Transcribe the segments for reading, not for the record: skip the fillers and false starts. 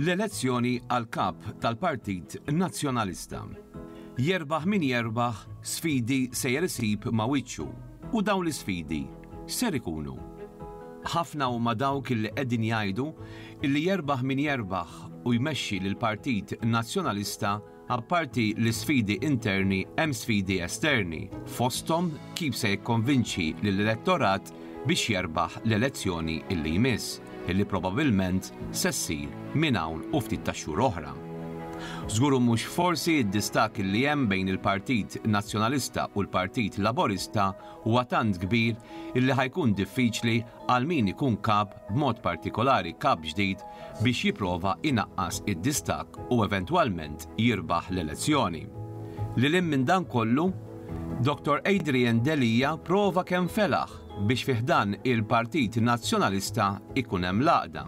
L-elezzjoni għal Kap tal-Partit Nazzjonalista. Jerbaħ min jerbaħ, sfidi sejjer isib ma' wiċċu u dawn l-isfidi ser ikunu. Ħafna huma dawk illi qegħdin jgħidu illi jerbaħ min jerbaħ u jmexxi lill-Partit Nazzjonalista Apparti l-isfidi interni hemm sfidi esterni, fosthom kif se jikkonvinċi lill-elettorat biex jerbaħ l-elezzjoni illi jmiss, illi probabilment se ssir minn hawn u ftit tax-xhur oħra. Żgur u mhux forsi d-distakk illi hemm bejn il-Partit Nazzjonalista u l-Partit Laborista huwa tant kbir illi ħa jkun diffiċli għal min ikun kap, b'mod partikolari kap ġdid, biex jipprova jnaqqas id-distakk u eventwalment jirbaħ l-elezzjoni. Lil hinn minn dan kollu, Dottor Adrian Delia prova kemm felaħ biex fi ħdan il-Partit Nazzjonalista jkun hemm l-għaqda.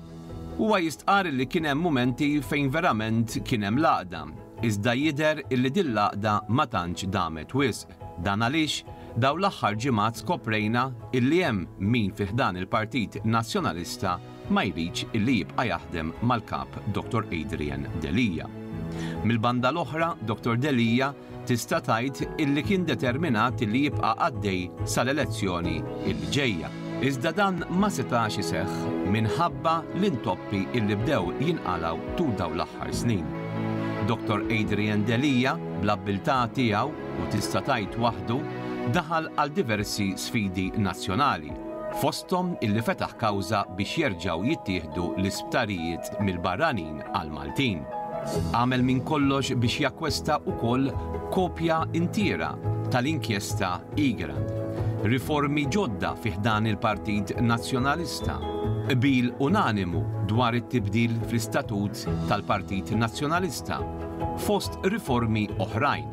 Huwa jistqarr li kien hemm mumenti fejn verament kien hemm l-għaqda, iżda jidher illi din l-għaqda ma tantx damet wisq. Dan għaliex dawn l-aħħar ġimgħat skoprejna illi hemm min fi ħdan il-Partit Nazzjonalista ma jridx illi jibqa' jaħdem mal-Kap Dottor Adrian Delia. Mill-banda l-oħra, Dottor Delia tista' tgħid illi kien determinat illi jibqa' għaddej sal-elezzjoni illi ġejja. Iżda dan ma setax iseħħ minħabba l-intoppi illi bdew jinqalgħu tul dawn l-aħħar snin. Dottor Adrian Delia, bl-abbiltà tiegħu u tista' tgħid waħdu, daħal għal diversi sfidi nazzjonali, fosthom illi fetaħ kawża biex jerġgħu jittieħdu l-isptarijiet mill-barranin għall-Maltin. Għamel minn kollox biex jakkwesta wkoll kopja intiera tal-inkjesta Egrant. Riformi ġodda fi ħdan il-Partit Nazzjonalista. Qbil unanimu dwar it-tibdil fl-istatut tal-Partit Nazzjonalista, fost riformi oħrajn.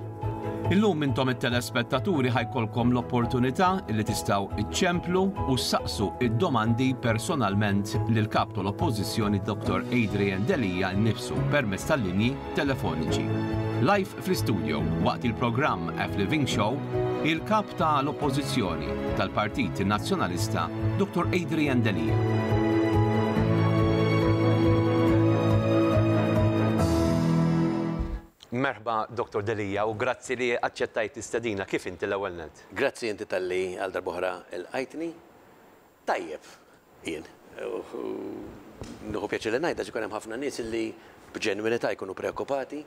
Illum intom it-telespettaturi ħa jkollkom l-opportunità li tistgħu iċċemplu u ssaqsu id-domandi personalment lill-Kap tal-Oppożizzjoni Dr. Adrian Delia nnifsu permezz tal-linji telefoniċi. Live fl-istudio waqt il-programm F Living Show, il-Kap tal-Oppożizzjoni tal-Partit Nazzjonalista Dr. Adrian Delia. Merħba Dottor Delia u grazzi li aċċettajt l-istedina. Kif inti l-ewwel nett? Grazzi inti talli għal darb'oħra lqajtni. Tajjeb jien. Nieħu pjaċir li ngħid għax ikun hemm ħafna nies li b'ġenwinità jkunu preokkupati.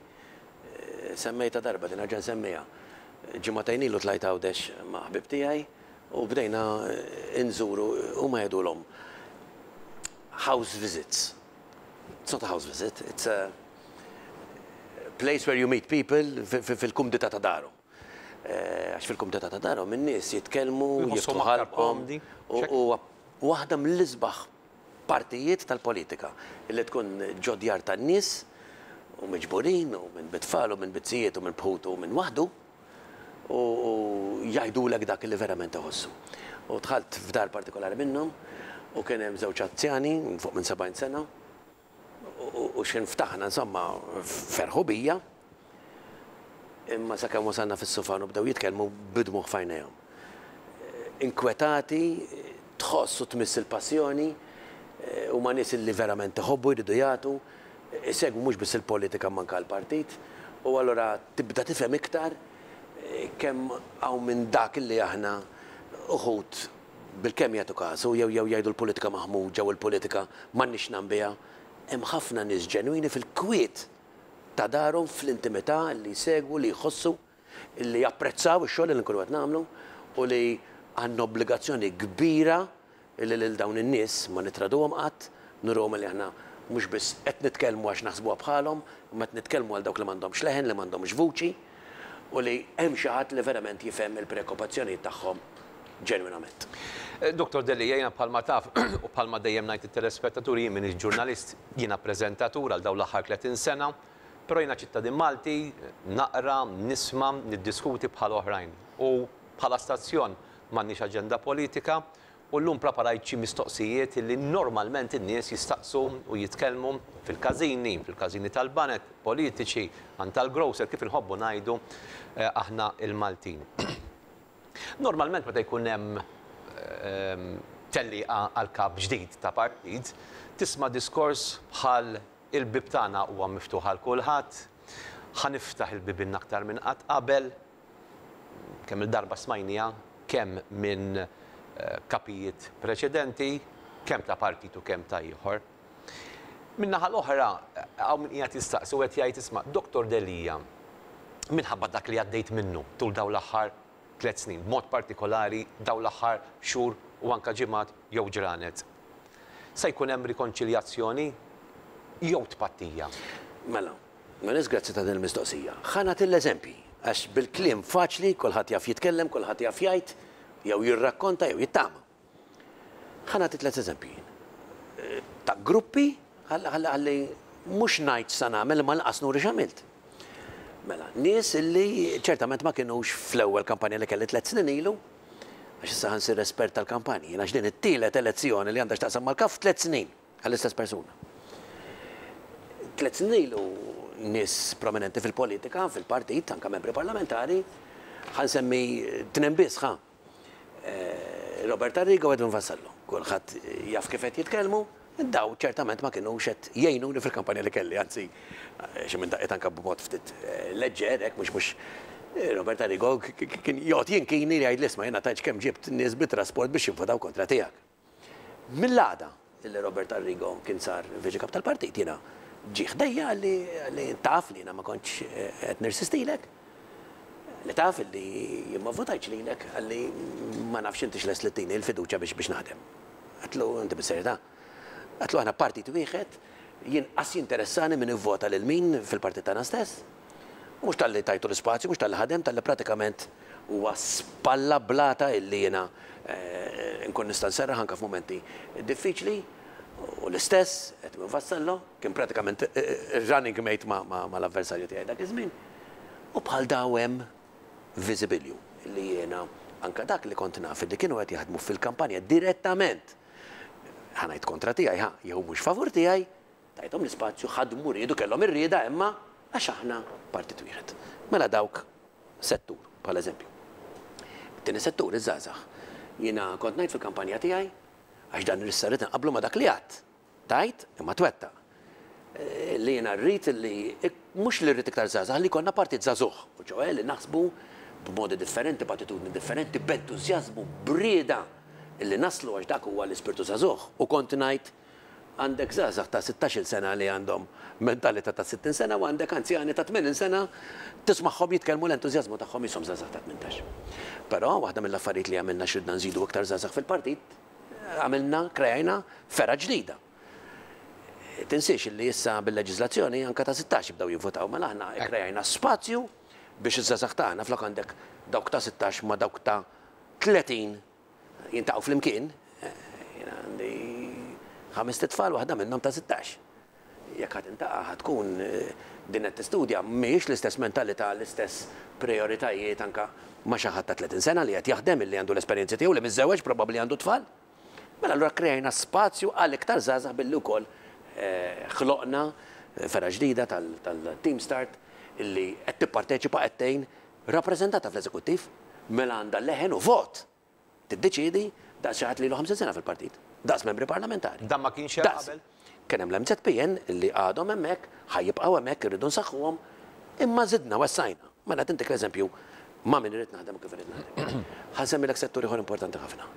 Semmejtha darba din nerġa' nsemmiha. Ġimagħtejn ilu tlajt Għawdex ma' ħbieb tiegħi u bdejna nżuru huma jgħidulhom house visits. It's not a house visit, it's a place where you meet people fil-kumdità ta' darhom. Għax fil-kumdità ta' darhom in-nies jitkellmu, jiftħu ħalqhom u waħda mill-isbaħ partijiet tal-politika li tkun ġo djar tan-nies u miġburin u minn bit-tfal u minn bit-zijiet u minn bħutu u minn waħdu u jgħidulek dak li verament iħossu. U dħalt f'dar partikolari minnhom u kien hemm żewġ anzjani fuq minn 70 sena u x'ħin ftaħna insomma ferħu bija imma sakemm wasalna fis-sufan u bdew jitkellmu bid-dmugħ f'għajnejhom. Inkwetati, tħoss u tmiss il-passjoni, huma nies li verament iħobbu jridu jagħtu, isegwu mhux biss il-politika imma anke l-partit u allura tibda tifhem iktar kemm hawn minn dak li aħna uħud bilkemm jagħtu kasu jew jew jgħidu l-politika maħmuġa u l-politika m'għandniex x'nagħmlu biha. Hemm ħafna nies ġenwini fil-kwiet ta' darhom, fl-intimità li jsegwu, li jħossu, li japprezzaw ix-xogħol li nkunu qed nagħmlu u li għandna obbligazzjoni kbira Illi lil dawn in-nies ma nittraduhom qatt, nuruhom illi aħna mhux biss qed nitkellmu għax naħsbuha bħalhom, imma qed nitkellmu għal dawk li m'għandhomx leħen, li m'għandhomx vuċi, u li hemm xi ħadd li verament jifhem il-preokkupazzjonijiet tagħhom ġenwinament. Dottor Delia, jiena bħalma taf u bħalma dejjem ngħid lit-telespettaturi jien m'iniex ġurnalist, jiena preżentatur għal dawn l-aħħar 30 sena, però jiena ċittadin Malti, naqra, nisma', niddiskuti bħal oħrajn. U bħala stazzjon m'għandniex aġenda politika u llum preparajt xi mistoqsijiet li normalment in-nies jistaqsu u jitkellmu fil-każini, fil-każini tal-baned, politiċi, għand tal-grocer, kif inħobbu ngħidu aħna l-Maltin. Normalment meta jkun hemm tellieqa għal kap ġdid ta' partit, tisma' diskors bħal. Il-bieb tagħna huwa miftuħ għal kulħadd. Ħa niftaħ il-bibien aktar minn qatt qabel. Kemm-il darba smajniha kemm minn kapijiet preċedenti, kemm ta' partit u kemm ta' ieħor. Min-naħa l-oħra, hawn min qiegħed jistaqsi u qed jgħid isma' Dottor Delia, minħabba dak li għaddejt minnu tul dawn l-aħħar tlett snin, b'mod partikolari dawn l-aħħar xhur u anke ġimgħat jew ġranet, se jkun hemm rikonċiljazzjoni jew tpattija? Mela, Melis grazzi ta' din il-mistoqsija. Ħa nagħti l-eżempji, għax bil-kliem faċli kulħadd jaf jitkellem, kulħadd jaf jgħid, jew jirrakkonta jew jittama. Ħa nagħti tlett eżempji jien. Ta' gruppi ħalli ħalli mhux ngħid x'sa nagħmel imma lanqas nuri x'għamilt. Mela, nies illi ċertament ma kinux fl-ewwel kampanja li kelli tlett snin ilu, għax issa ħa nsir espert tal-kampanji jien għax din it-tielet elezzjoni li għandha x'taqsam mal-kap f'tliet snin għall-istess persuna. Tlett snin ilu nies prominenti fil-politika, fil-partit, anke membri parlamentari, ħa nsemmi tnejn biss ħa. Robert Arrigo u Edwin Vassallo. Kulħadd jaf kif qed jitkellmu, daw ċertament ma kinux qed jgħinuni fil-kampanja li kelli, anzi xi minn daqqiet anke b'mod ftit leġġer hekk mhux mhux Robert Arrigo kien joqgħod jinkini li jgħidli isma' jiena tgħidx kemm ġibt nies bit-trasport biex jivvotaw kontra tiegħek. Mill-għada li Robert Arrigo kien sar Viċi Kap tal-Partit jiena ġie ħdejja qalli qalli taf li jiena ma kontx qed nirsistilek, li taf li jien ma vvotajtx lilek, qalli ma nafx intix lest li ttini l-fiduċja biex biex naħdem. Għedtlu inti bis-serjetà? Għedtlu aħna partit wieħed, jien qas jinteressani min ivvota lil min fil-partit tagħna stess. U mhux talli tajtu l-ispazju, mhux talli ħadem, talli pratikament huwa spalla blata illi jiena nkun nista' nserraħ anke f'mumenti diffiċli. U l-istess Edwin Vassallo, kien pratikament ir-running mate mal-avversarju tiegħi dak iż-żmien. U bħal daw hemm viżibilju illi jiena anke dak li kont naf illi kienu qed jaħdmu fil-kampanja direttament, ħa ngħid kontra tiegħi ħa, jew mhux favur tiegħi, Tajthom l-ispazju, ħadmu, riedu, kellhom ir-rieda imma għax aħna partit wieħed. Mela dawk settur, bħala eżempju. It-tieni settur, iż-żgħażagħ. Jiena kont ngħid fil-kampanja tiegħi, għax dan issa rrid inqabblu ma' dak li għadt. Tgħid imma twettaq. Li jiena rrid li, mhux li rrid iktar żgħażagħ, li jkollna partit żagħżugħ, u ċoè li naħsbu b'modi differenti, b'attitudni differenti, b'entużjażmu, b'rieda li naslu għax dak huwa l-ispirtu żagħżugħ. U kont ngħid Għandek żgħażagħ ta' sittax-il sena li għandhom mentalità ta' 60 sena u għandek anzjani ta' 80 sena tismagħhom jitkellmu l-entużjażmu tagħhom qishom żgħażagħ ta' 18. Però waħda mill-affarijiet li għamilna għax ridna nżidu iktar żgħażagħ fil-partit, għamilna, kreajna fergħa ġdida. Tinsiex li issa bil-leġiżlazzjoni anke ta' 16 jibdew jivvutaw, mela aħna kkreajna spazju biex iż-żgħażagħ tagħna flok għandek dawk ta' 16 ma' dawk ta' 30 jintaqgħu flimkien, jiena għandi ħamest itfal waħda minnhom ta' 16. Jekk ħa tintaqa' ħa tkun din qed tistudja mhijiex l-istess mentalità, l-istess prijoritajiet anke ma' xi ħadd ta' 30 sena li qed jaħdem, illi għandu l-esperjenzi tiegħu, li miżżewweġ, probabbli għandu t-tfal. Mela allura kreajna spazju għal iktar żgħażagħ billi wkoll ħloqna fergħa ġdida tal-Team Start illi qed tipparteċipa qed tgħin Rappreżentata fl-eżekuttiv, mela għandha leħen u vot! Tiddeċiedi daqs xi ħadd li ilu 50 sena fil-partit. Daqs membri parlamentari. Dan ma kienx hemm qabel? Kien hemm l-MZPN li għadhom hemmhekk, ħa jibqgħu hemmhekk, irridu nsaħħuhom, imma żidna, wessajna. Mela qed intik l-eżempju ma' min irrid naħdem u kif irrid naħdem. Ħa nsemmilek settur ieħor importanti ħafna,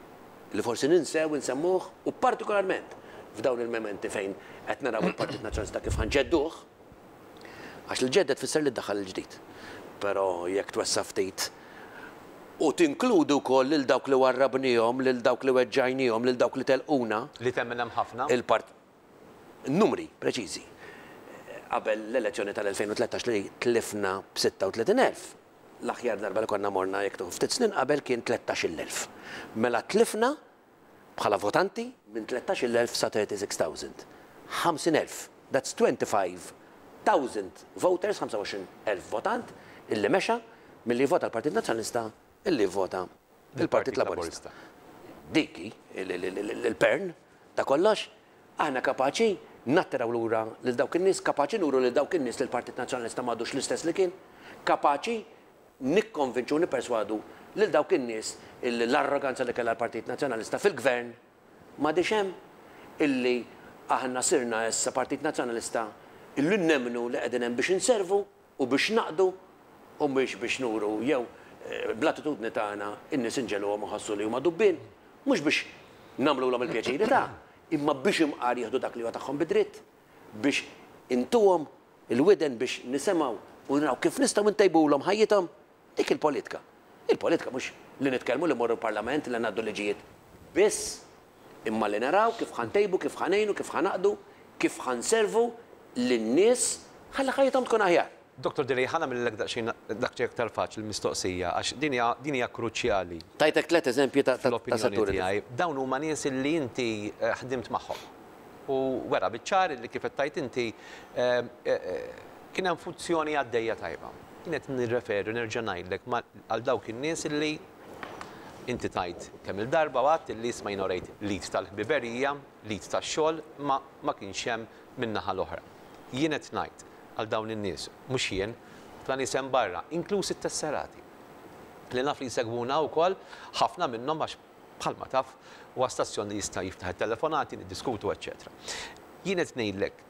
li forsi ninsew insemmuh u partikolarment f'dawn il-mementi fejn qed naraw il-Partit Nazzjonalista kif ħa nġedduh, Għax li ġġedded tfisser li ddaħħal il-ġdid. Però jekk twessa' ftit u tinkludi wkoll lil dawk li warrabniehom, lil dawk li weġġajniehom, lil dawk li telquna. Li temmen hemm ħafna. Il-part. Numri preċiżi. Qabel l-elezzjoni tal-2013 li tlifna b'36,000, l-aħjar darba li konna morna jekk tieħu ftit snin qabel kien 13,000. Mela tlifna Bħala votanti, minn 13,000 sa 36,000. 50,000. That's 25,000 voters, 25,000 votant, illi mexa milli jivvota l-Partit Nazzjonalista illi jivvota l-Partit Laburista. Dik hi l-pern ta' kollox. Aħna kapaċi nattiraw lura lil dawk in-nies, kapaċi nuru lil dawk in-nies li l-Partit Nazzjonalista m'għadux l-istess li kien, kapaċi nikkonvinċu u nipperswadu lil dawk in-nies illi l-arroganza li kellha l-Partit Nazzjonalista fil-Gvern m'għadhiex hemm, illi aħna sirna issa Partit Nazzjonalista Illi nemmnu li qegħdin hemm biex inservu u biex naqdu u mhux biex nuru jew bl-attitudni tagħna n-nies inġegħluhom iħossu li huma dubbien, mhux biex nagħmlulhom il-pjaċiri ta', imma biex imqar jieħdu dak li huwa tagħhom bi dritt, biex intuhom il-widen biex nisimgħu u naraw kif nistgħu ntejbulhom ħajjithom. Dik il-politka. Il-politka mhux li nitkellmu, li mmorru l-Parlament, li ngħaddu liġijiet biss, imma li naraw kif ħa ntejbu, kif ħa ngħinu, kif ħa naqdu, kif ħa nservu lin-nies ħalli ħajjithom tkun aħjar. Dottor Delia, ħa nagħmillek daqsxejn daqsxejn aktar faċli l-mistoqsija għax din hija din hija kruċjali. Tajtek tlett eżempji ta' ta' Fl-opinjoni setturi tiegħi. Dawn huma nies li inti ħdimt magħhom. U wera biċ-ċar li kif qed tgħid inti kien hemm funzjoni għaddejja tajba. Jien qed nirreferi nerġa' ngħidlek għal dawk in-nies li inti tgħid kemm-il darba u għedt li isma' jiena urejt l-id tal-ħbiberija, l-id tax-xogħol, imma ma kienx hemm min-naħa l-oħra. Jien qed ngħid għal dawn in-nies, mhux jien, ħafna nies hemm barra, inkluż it-tesserati, li naf li jsegwuna wkoll, ħafna minnhom għax bħalma taf huwa stazzjon li jista' jiftaħ it-telefonati, niddiskutu eċċetera. Jien qed ngħidlek,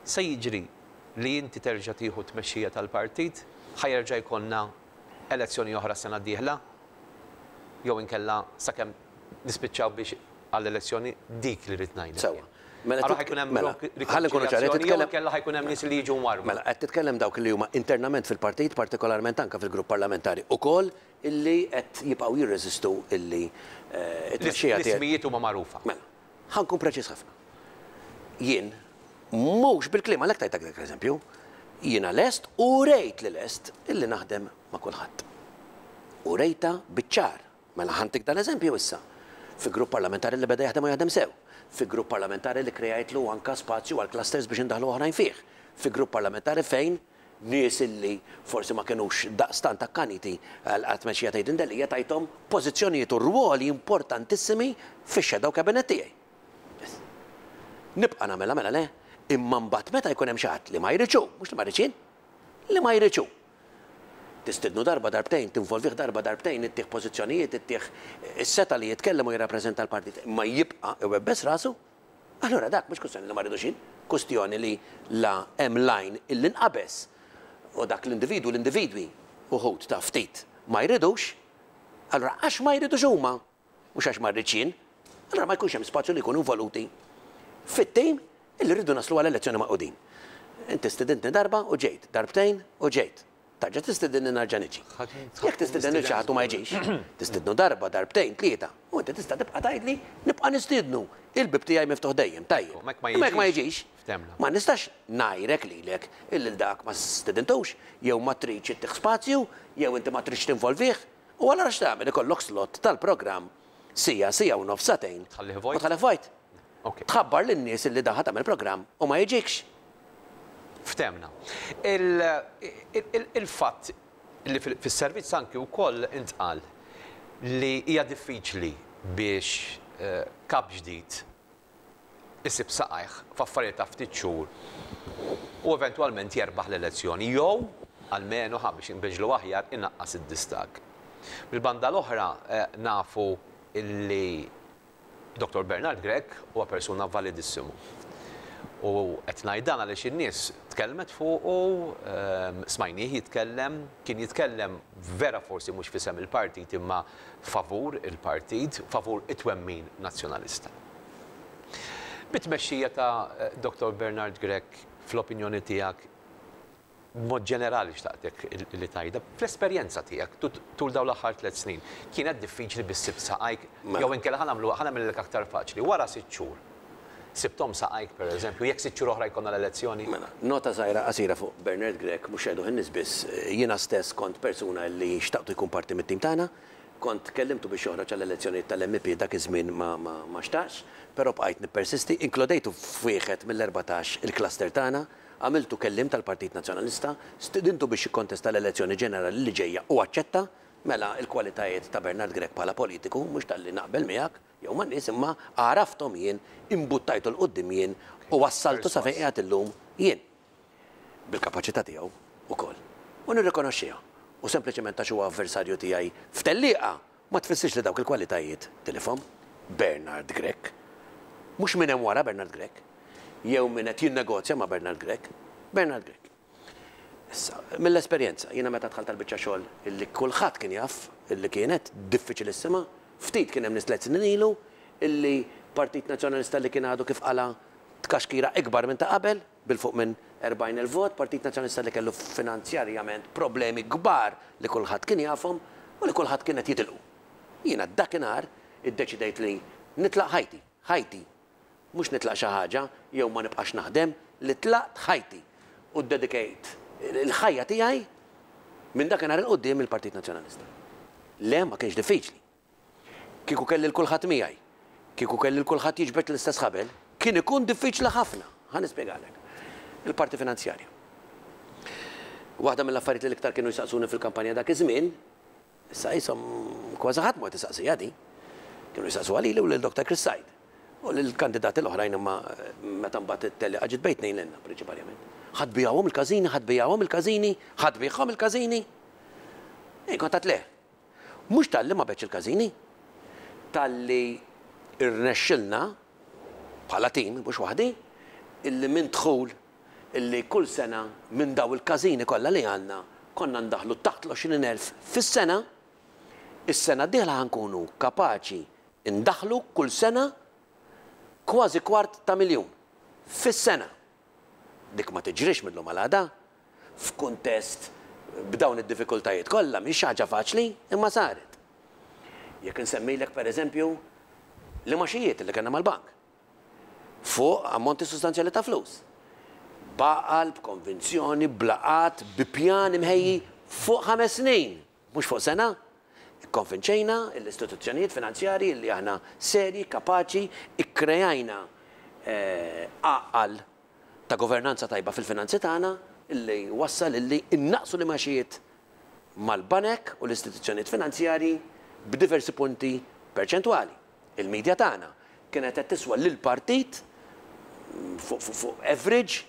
se jiġri li inti terġa' tieħu t-tmexxija tal-partit, ħa jerġa' jkollna elezzjoni oħra s-sena d-dieħla? Jew inkella sakemm nispiċċaw biex għall-elezzjoni dik li rrid ngħidlek Sewwa. jien. Mela Allura ħa jkun hemm mela, ħalli nkunu ċari, rikonċiljazzjoni jew titkellem inkella ħa jkun hemm nies li jiġu mwarrba. Mela, qed titkellem dawk li huma internament fil-partit, partikolarment anke fil-grupp parlamentari ukoll, illi qed jibqgħu jirreżistu illi t-tmexxija tiegħi. L-ismijiet huma magħrufa. Mela, ħa nkun preċiż ħafna. Jien, mhux bil-kliem, għalhekk tajtek dak l-eżempju, jiena lest u urejt li lest illi naħdem ma' kulħadd. Urejtha biċ-ċar. Mela ħa ntik dan l-eżempju issa. Fi grupp parlamentari li beda jaħdem u jaħdem sew. Fi grupp parlamentari li kreajtlu anka spazju għal clusters biex indaħħlu oħrajn fih. Fi grupp parlamentari fejn nies illi forsi ma kinux daqstant akkaniti għat-tmexxija ta' Adrian Delia tajthom pożizzjonijiet u rwoli importantissimi fix-shadow cabinet tiegħi. Biss. Nibqa' nagħmilha mela le, imma mbagħad meta jkun hemm xi ħadd li ma jridx hu, mhux li ma rridx jien, li ma jridx hu. Tistidnu darba, darbtejn, tinvolvih darba, darbtejn, ittih pożizzjonijiet, ittih is-setgħa li jitkellem u jirrappreżenta l-partit, imma jibqa' iwebbes rasu, allura dak mhux kwistjoni li ma rridux jien, kwistjoni li la hemm line illi nqabeż u dak l-individwu, l-individwi, uħud ta' ftit ma jridux, allura għax ma jridux huma, mhux għax ma rridx jien, allura ma jkunx hemm spazju li jkunu involuti fit-tim illi rridu naslu għal elezzjoni magħqudin. Inti stidintni darba u ġejt, darbtejn u ġejt. Tarġa' tistidinni narġa' niġi. Jekk tistieden lil xi ħadd u ma jiġix, tistidnu darba, darbtejn, tlieta, u inti tista' tibqa' tgħidli nibqa' nistiednu, il-bieb tiegħi miftuħ dejjem, tajjeb. Imma jekk ma jiġix, ma nistax ngħajrek lilek illi 'l dak ma stidintux, jew ma tridx ittih spazju, jew inti ma tridx tinvolvih. U allura x'tagħmel? Ikollok slot tal-programm siegħa, siegħa u nofs, sagħtejn u tħallih vojt. Tħabbar lin-nies illi dan ħa tagħmel programm u ma jiġikx. Ftehmna. Il-fatt li fis-servizz anki wkoll intqal li hija diffiċli biex kap ġdid isib saqajh f'affarijiet ta' ftit xhur u eventwalment jerbaħ l-elezzjoni jew, almenu, ħa biex inbiġġlu aħjar, inaqqas id-distakk. Mill-banda l-oħra nafu li Dottor Bernard Grech huwa persuna validissimu. U qed ngħid dan għaliex in-nies tkellmet fuqu, smajnieh jitkellem, kien jitkellem vera forsi mhux f'isem il-partit imma favur il-partit, favur it-twemmin Nazzjonalista. Bit-tmexxija ta' Dottor Bernard Grech, fl-opinjoni tiegħek, b'mod ġenerali xtaqtek li tgħidha, fl-esperjenza tiegħek tul dawn l-aħħar tlett snin, kienet diffiċli biex sibt saqajk jew inkella ħa nagħmlu ħa nagħmilhielek aktar faċli, wara sitt xhur, sibthom saqajk pereżempju, jekk sitt xhur oħra jkollna l-elezzjoni? Mela, nota żgħira qasira fuq Bernard Grech, mhux jgħiduh in-nies biss, jiena stess kont persuna li xtaqtu jkun parti mit-tim tagħna, Kont kellimtu biex joħroġ għall-elezzjonijiet tal-MEP dak iż-żmien ma ma xtaqx, però bqajt nippersisti, inkludejtu f'wieħed mill-erbatax il-cluster tagħna, għamiltu kelliem tal-Partit Nazzjonalista, stidintu biex jikkontesta l-elezzjoni ġenerali li ġejja u aċċetta, mela l-kwalitajiet ta' Bernard Grech bħala politiku mhux talli naqbel miegħek jew man-nies imma għarafthom jien, imbuttajtu 'l quddiem jien u wassaltu sa fejn qiegħed illum jien. bil-kapaċità tiegħu wkoll. U nirrikonoxxiha. U sempliċement għax huwa avversarju tiegħi f'tellieqa ma tfissirx li dawk il-kwalitajiet tilifhom. Bernard Grech. Mhux min hemm wara Bernard Grech. Jew min qed jinnegozja ma' Bernard Grech. Bernard Grech. Issa, mill-esperjenza, jiena meta dħalt għall-biċċa xogħol illi kulħadd kien jaf illi kienet diffiċilissima, ftit kien hemm nies tlett snin ilu illi Partit Nazzjonalista li kien għadu kif qala' tkaxkira ikbar minn ta' qabel, bil-fuq minn 40,000 vot, Partit Nazzjonalista li kellu finanzjarjament problemi kbar li kulħadd kien jafhom u li kulħadd kien qed jitilqu. Jiena dakinhar iddeċidejt li nitlaq ħajti, ħajti, Mhux nitlaq xi ħaġa jew ma nibqax naħdem, li tlaqt ħajti u ddedikejt il-ħajja tiegħi minn dakinhar 'il quddiem lill-Partit Nazzjonalista. Le, ma kienx diffiċli. Kieku kelli 'l kulħadd miegħi, kieku kelli 'l kulħadd jiġbed l-istess ħabel, kien ikun diffiċli ħafna. Ħa nispjegalek. Il-parti finanzjarja. Waħda mill-affarijiet li l-iktar kienu jsaqsuni fil-kampanja dak iż-żmien, Issa qishom kważi ħadd mhu qed isaqsiha din. Kienu jsaqsuha lili u lil Doctor Chris Said. U lill-kandidati l-oħrajn imma meta mbagħad it-tellieqa ġiet bejn tnejn lilna prinċiparjament. Ħa tbigħuhom il-każini, ħa tbigħuhom il-każini, ħa tbigħhom il-każini? Jien kont għedt le. Mhux talli ma begħtx il-każini, talli rnexxilna bħala tim, mhux waħdi, illi minn dħul illi kull sena minn dawn il-każini kollha li għandna konna ndaħħlu taħt l-20,000 fis-sena, is-sena d-dieħla ħa nkunu kapaċi ndaħħlu kull sena kważi kwart ta' miljun fis-sena. Dik ma tiġrix mil-lum għal għada. F'kuntest b'dawn id-diffikultajiet kollha mhix xi ħaġa faċli, imma saret. Jekk insemmilek pereżempju l-imgħaxijiet li kellna mal-bank. fuq ammonti sostanzjali ta' flus. B'għaqal, b'konvinzjoni, b'laqgħat, bi pjan imħejji fuq ħames snin, mhux fuq sena. Ikkonvinċejna l-istituzzjonijiet finanzjarji li aħna serji, kapaċi, ikkreajna għaqal ta' governanza tajba fil-finanzi tagħna li wassal illi nnaqqsu l-imgħaxijiet mal-banek u l-istituzzjonijiet finanzjarji b'diversi punti perċentwali. Il-media tagħna kienet qed tiswa lill-partit fuq average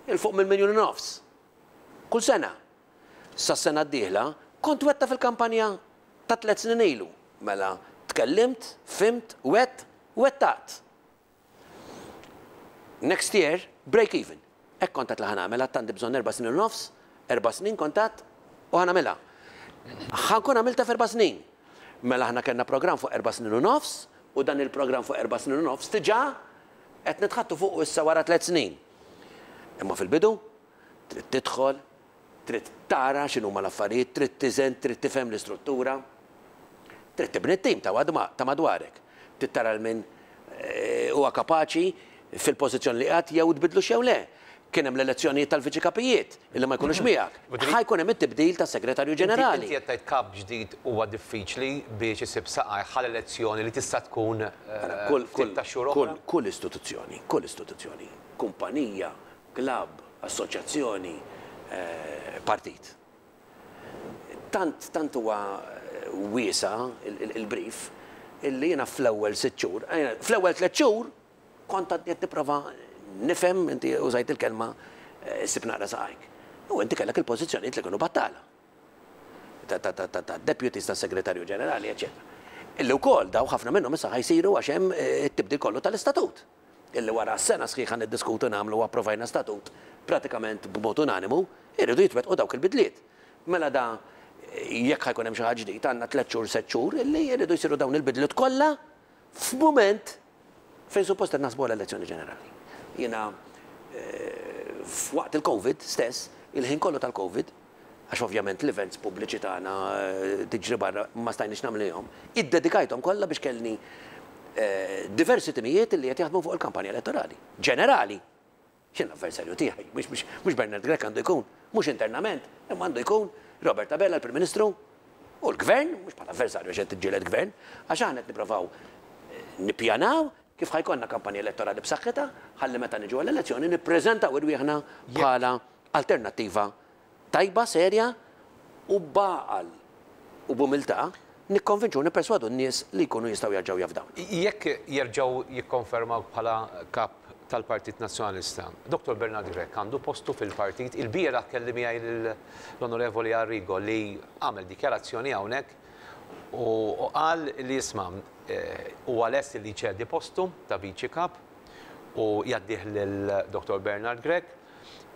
'il fuq minn miljun u nofs kull sena. Sas-sena d-dieħla kont wegħdtha fil-kampanja ta' tlett snin ilu. Mela tkellimt, fhimt, wegħdt, wettaqt. Next year, break even. Hekk kont għedt li ħa nagħmel, għedt għandi bżonn erba' snin u nofs, erba' snin kont għedt u ħa nagħmilha. Ħa nkun għamiltha f'erba' snin. Mela aħna kellna programm fuq erba' snin u nofs u dan il-programm fuq erba' snin u nofs diġà qed nitħaddtu fuqu issa wara tliet snin. Imma fil-bidu trid tidħol, Trid tara x'inhuma l-affarijiet, trid tiżen, trid tifhem l-istruttura. Trid tibni t-tim ta' madwarek. Trid tara 'l min huwa kapaċi fil-pożizzjoni li qiegħed jew tbiddlux jew le. Kien hemm l-elezzjonijiet tal-viċi kapijiet li ma jkunux miegħek. Ħa jkun hemm it-tibdil tas-segretarju ġenerali. Inti qed tgħid kap ġdid huwa diffiċli biex isib saqajh għal elezzjoni li tista' tkun ftit ta' xhur oħra? Kull istituzzjoni, kull istituzzjoni, kumpanija, klabb, assoċjazzjoni, partit. Tant, tant huwa wiesa' il-brief illi jiena fl-ewwel sitt xhur, fl-ewwel tlett xhur kont għadni qed nipprova nifhem, inti użajt il-kelma issib naqra saqajk. U inti kellek il-pożizzjonijiet li kienu battala. Ta' deputies, tas-segretarju ġenerali, eċċetera. Illi wkoll daw ħafna minnhom issa ħa jsiru għax hemm it-tibdil kollu tal-istatut. illi wara sena sħiħa niddiskutu, nagħmlu u approvajna statut pratikament b'mod unanimu, iridu jitwettqu dawk il-bidliet. Mela da jekk ħa jkun hemm xi ħadd ġdid għandna tlett xhur, sett xhur illi jridu jsiru dawn il-bidliet kollha f'mument fejn suppost qed naħsbu għal elezzjoni ġenerali. Jiena f'waqt il-Covid stess, il-ħin kollu tal-Covid, għax ovvjament l-events pubbliċi tagħna tiġri barra ma stajniex nagħmlihom, iddedikajthom kollha biex kellni diversi timijiet li qed jaħdmu fuq il-kampanja elettorali. Ġenerali! X'in l-avversarju tiegħi? Mhux Bernard Grech għandu jkun, mhux internament, imma għandu jkun Robert Abela l-Prim Ministru u l-Gvern, mhux bħala avversarju għax qed tiġġieled gvern, għax aħna qed nipprovaw nippjanaw kif ħa jkollna kampanja elettorali b'saħħitha ħalli meta niġu għall-elezzjoni nippreżentaw irwieħna bħala alternattiva tajba, serja u b'għaqal u b'umiltà nikkonvinċu u nipperswadu n-nies li jkunu jistgħu jerġgħu jafdawna. Jekk jerġgħu jikkonfermawk bħala Kap tal-Partit Nazzjonalista, Dottor Bernard Grech għandu postu fil-partit? Ilbieraħ kelli miegħi lill-Onorevoli Arrigo li għamel dikjarazzjoni hawnhekk u qal li isma' huwa lest li jċedi postu ta' Viċi Kap u jgħaddih lil Dottor Bernard Grech.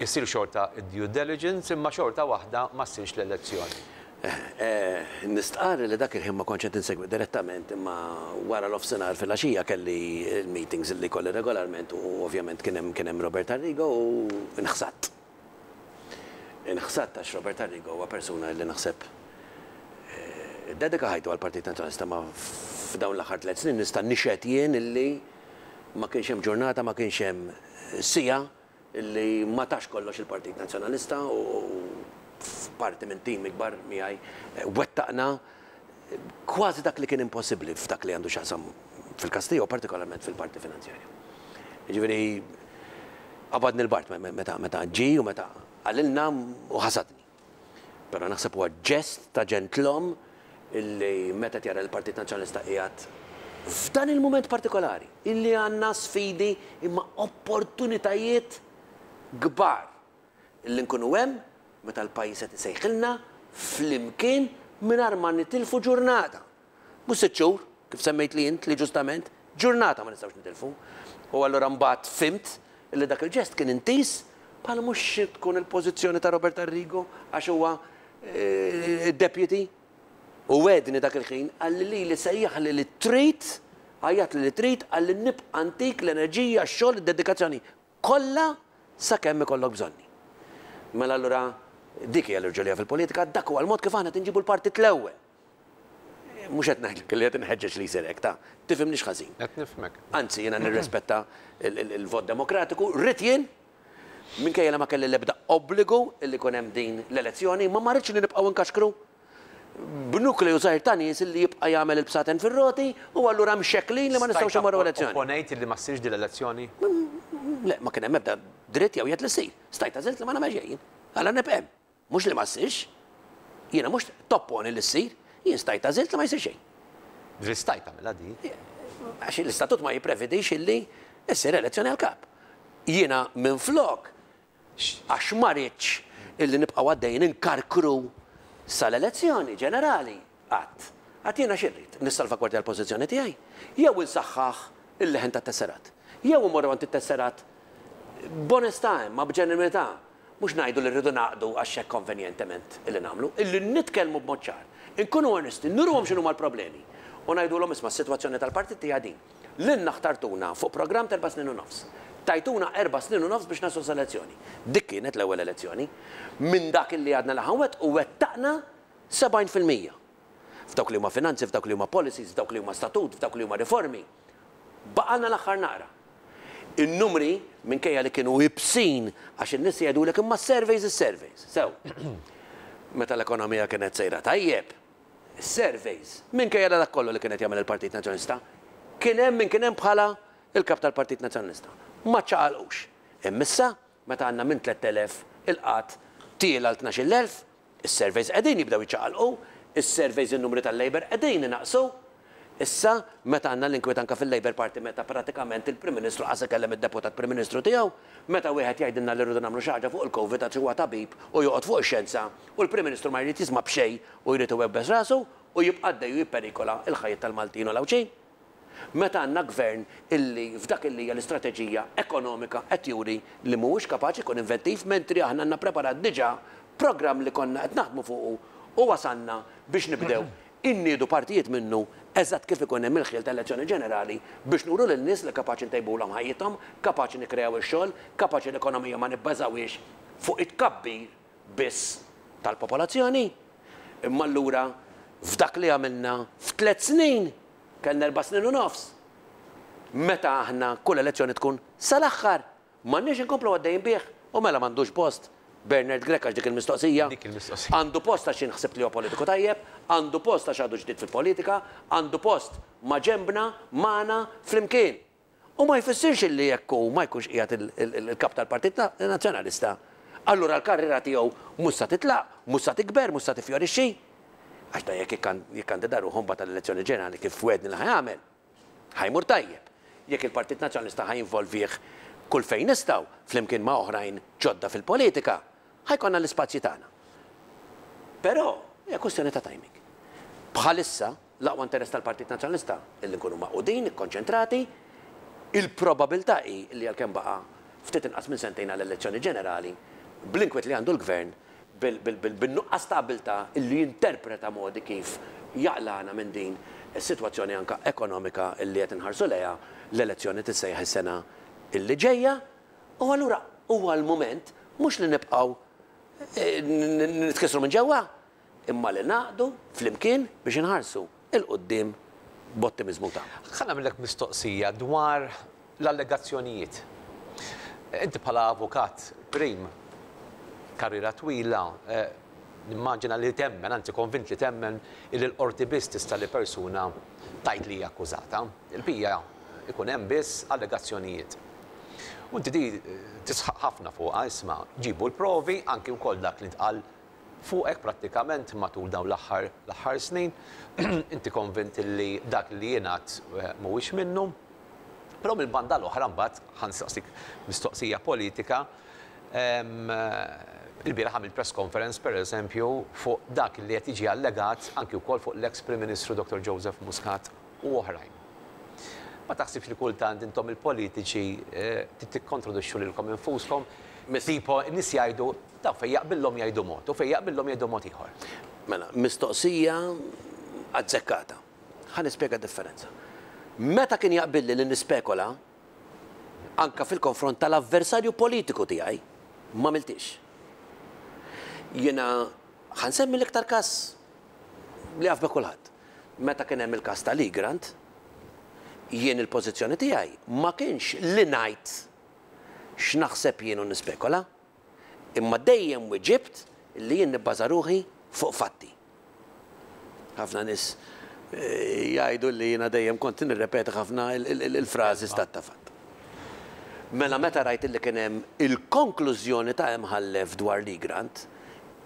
Issir xorta d-due diligence imma xorta waħda ma ssirx l-elezzjoni. Nistqarr li dak il-ħin ma kontx qed insegwi direttament imma wara nofsinhar filgħaxija kelli l-meetings li jkolli regolarment u ovvjament kien hemm kien hemm Robert Arrigo u nħsadt. Inħsadt għax Robert Arrigo huwa persuna li naħseb iddedika ħajtu għall-Partit Nazzjonalista ma f'dawn l-aħħar tlett snin nista' nixhed jien illi ma kienx hemm ġurnata, ma kienx hemm siegħa li ma tax kollox il-Partit Nazzjonalista u f'parti minn tim ikbar miegħi wettaqna kważi dak li kien impossibbli f'dak li għandu x'jaqsam fil-każ tiegħu partikolarment fil-parti finanzjarja. Jiġifieri qabadni l-bard meta meta ġie u meta qalilna u ħasadni. Però naħseb huwa ġest ta' ġentlom illi meta qed jara li l-Partit Nazzjonalista qiegħed f'dan il-mument partikolari, illi għandna sfidi imma opportunitajiet kbar illi nkunu hemm meta l-pajjiż qed isejħilna flimkien mingħajr ma nitilfu ġurnata. Mhux sitt xhur, kif semmejtli int li ġustament, ġurnata ma nistgħux nitilfu. U allura mbagħad fhimt li dak il-ġest kien intiż bħala mhux xi tkun il-pożizzjoni ta' Robert Arrigo għax huwa d-deputy. U wegħdni dak il-ħin, qalli lili sejjaħli li trid, għajjatli li trid, qalli nibqa' ntik l-enerġija, x-xogħol, id-dedikazzjoni kollha sakemm ikollok bżonni. Mela allura dik hija l-irġulija fil-politika, dak huwa l-mod kif aħna qed inġibu l-partit l-ewwel. Mhux qed ngħidlek li qed inħeġġeġ li jsir hekk, ta'. Tifhimnix ħażin. Qed nifhmek. Anzi, jiena nirrispetta l-vot demokratiku, rrid jien, minkejja li ma kelli l-ebda obbligu li jkun hemm din l-elezzjoni, ma ma rridx li nibqgħu nkaxkru b'nukleu żgħir ta' nies li jibqa' jagħmel il-bsaten fir-roti u allura mxekklin li ma nistgħux immorru elezzjoni. Stajt opponejt li ma ssirx din l-elezzjoni? Le, ma kien hemm ebda dritt jew jedd li ssir. Stajt għażilt li ma nagħmelx xejn jien. Allura nibqa' hemm. Mhux li ma ssirx. Jiena mhux topponi li ssir. Jien stajt għażilt li ma jsir xejn. Ġifieri stajt tagħmilha di? Għax l-istatut ma jipprevedix illi ssir elezzjoni għall-kap. Jiena minflok, għax ma ridtx illi nibqgħu għaddejjin inkarkru sal-elezzjoni ġenerali, għadt. Għadt jiena xi rrid? Nissalvagwardja l-pożizzjoni tiegħi? Jew insaħħaħ il-leħen tat-tesserat? Jew immorru għand it-tesserat b'onestà imma b'ġenwinità Mhux ngħidu li rridu ngħaqdu għax hekk konvenjentement illi nagħmlu, illi nitkellmu b'mod ċar, inkunu onesti, nuruhom x'inhuma l-problemi u ngħidulhom isma' s-sitwazzjoni tal-partit hija din. Lilna ħtartuna fuq programm t'erba' snin u nofs. Tajtuna erba' snin u nofs biex naslu sal-elezzjoni. Dik kienet l-ewwel elezzjoni. Minn dak illi għadna li ħa nwettqu wettaqna 70%. F'dawk li huma finanzi, f'dawk li huma policies, f'dawk li huma statut, f'dawk li huma riformi. Baqgħalna l-aħħar naqra. In-numri, minkejja li kienu ibsin għax in-nies jgħidulek imma s-surveys is-surveys. Sew. Meta l-ekonomija kienet sejra tajjeb, is-surveys, minkejja li dak kollu li kien qed jagħmel il-Partit Nazzjonalista, kien hemm min kien hemm bħala l-Kap tal-Partit Nazzjonalista. Ma ċċaqalqux. Imma issa, meta għandna minn 3,000 il-qgħad tiela' għal 12,000, Is-surveys qegħdin jibdew jiċċaqalqu, is-surveys in-numri tal-Labour qegħdin inaqqsu. Issa, meta għandna l-inkwiet anke fil-Labour Party meta pratikament il-Prim Ministru qas ikellem id-Deputat Prim Ministru tiegħu, meta wieħed jgħidilna li rridu nagħmlu xi ħaġa fuq il-Covid għax huwa tabib u joqgħod fuq ix-xjenza u l-Prim Ministru ma jrid jisma' b'xejn u jrid iwebbes rasu u jibqa' għaddej u jipperikola l-ħajjiet tal-Maltin u l-Għawdxin. Meta għandna Gvern illi f'dak illi hija l-istrateġija ekonomika qed juri li mhuwiex kapaċi jkun inventiv mentri aħna għandna preparat diġà programm li konna qed naħdmu fuqu u wasalna biex nibdew inniedu partijiet minnu eżatt kif ikun hemm il-ħjiel ta' elezzjoni ġenerali biex nuru lin-nies li kapaċi ntejbulhom ħajjithom, kapaċi nikkreaw ix-xogħol, kapaċi l-ekonomija ma nibbażawhiex fuq it-tkabbir biss tal-popolazzjoni. Imma allura f'dak li għamilna f'tliet snin, kellna erba' snin u nofs, meta aħna kull elezzjoni tkun sal-aħħar, m'għandniex inkomplu għaddejjin bih? U mela m'għandux post Bernard Grech għax dik il-mistoqsija? Dik il-mistoqsija. Għandu post għax jien ħsibt li huwa politiku tajjeb, għandu post għax għadu ġdid fil-politika, għandu post maġenbna, magħna, flimkien. U ma jfissirx illi jekk hu ma jkunx qiegħed il-Kap tal-Partit Nazzjonalista, allura l-karriera tiegħu mhux sa titlaq, mhux sa tikber, mhux sa tiffjorixxi. Għax dan jekk jikkandida ruħu mbagħad għall-elezzjoni ġenerali kif wegħedni li ħa jagħmel, ħa jmur tajjeb. Jekk il-Partit Nazzjonalista ħa jinvolvih kull fejn nistgħu, flimkien ma' oħrajn ġodda fil-politika, ħa jkollna l-ispazji tagħna. Però hija kwistjoni ta' timing. Bħalissa, L-aqwa interess tal-Partit Nazzjonalista illi nkunu magħqudin, ikkonċentrati. Il-probabilità hi li għalkemm baqa' ftit inqas minn sentejn għall-elezzjoni ġenerali, bl-inkwiet li għandu l-Gvern, bin-nuqqas ta' abiltà illi jinterpreta modi kif jaqlagħna minn din is-sitwazzjoni anke ekonomika illi qed inħarsu lejha, l-elezzjoni tissejjaħ is-sena illi ġejja, u allura huwa l-mument mhux li nibqgħu nitkissru minn ġewwa, imma li nagħqdu flimkien biex inħarsu 'l quddiem b'ottimiżmu u tama. Ħa nagħmillek mistoqsija dwar l-allegazzjonijiet. Inti bħala avukat prim, karriera twila, nimmaġina li temmen, anzi konvint li temmen illi l-qorti biss tista' li persuna tgħid li hija akkużata. Il-bqija ikun hemm biss allegazzjonijiet. U inti di tisħaq ħafna fuqha, isma' ġibu l-provi anki wkoll dak li ntqal fuqek prattikament matul dawn l-aħħar l-aħħar snin. Inti konvint li dak li jingħad mhuwiex minnu. Però mill-banda l-oħra mbagħad ħa nsaqsik mistoqsija politika, ilbieraħ għamilt press conference pereżempju fuq dak li qed jiġi allegat anki wkoll fuq l-eks Prim Ministru Dottor Joseph Muscat u oħrajn. Ma taħsibx li kultant intom il-politiċi tikkontradixxu lilkom infuskom? Tipo n-nies jgħidu dawn fejn jaqbillhom jgħidu mod u fejn jaqbillhom jgħidu mod ieħor. Mela, mistoqsija azzekkata. Ħa nispjega d-differenza. Meta kien jaqbilli li nispekola, anke fil-konfront tal-avversarju politiku tiegħi, m'għamilthiex. Jiena ħa nsemmi l-iktar każ li jaf bih kulħadd. Meta kien hemm il-każ tal-Egrant, jien il-pożizzjoni tiegħi ma kienx li ngħid x'naħseb jien u nispekola, imma dejjem wiġibt li jien nibbaża ruħi fuq fatti. Ħafna nies jgħidu li jiena dejjem kont nirrepeti ħafna il-frażi stat ta' fatt. Mela meta rajt li kien hemm il-konklużjoni ta' Imħallef dwar l-Egrant,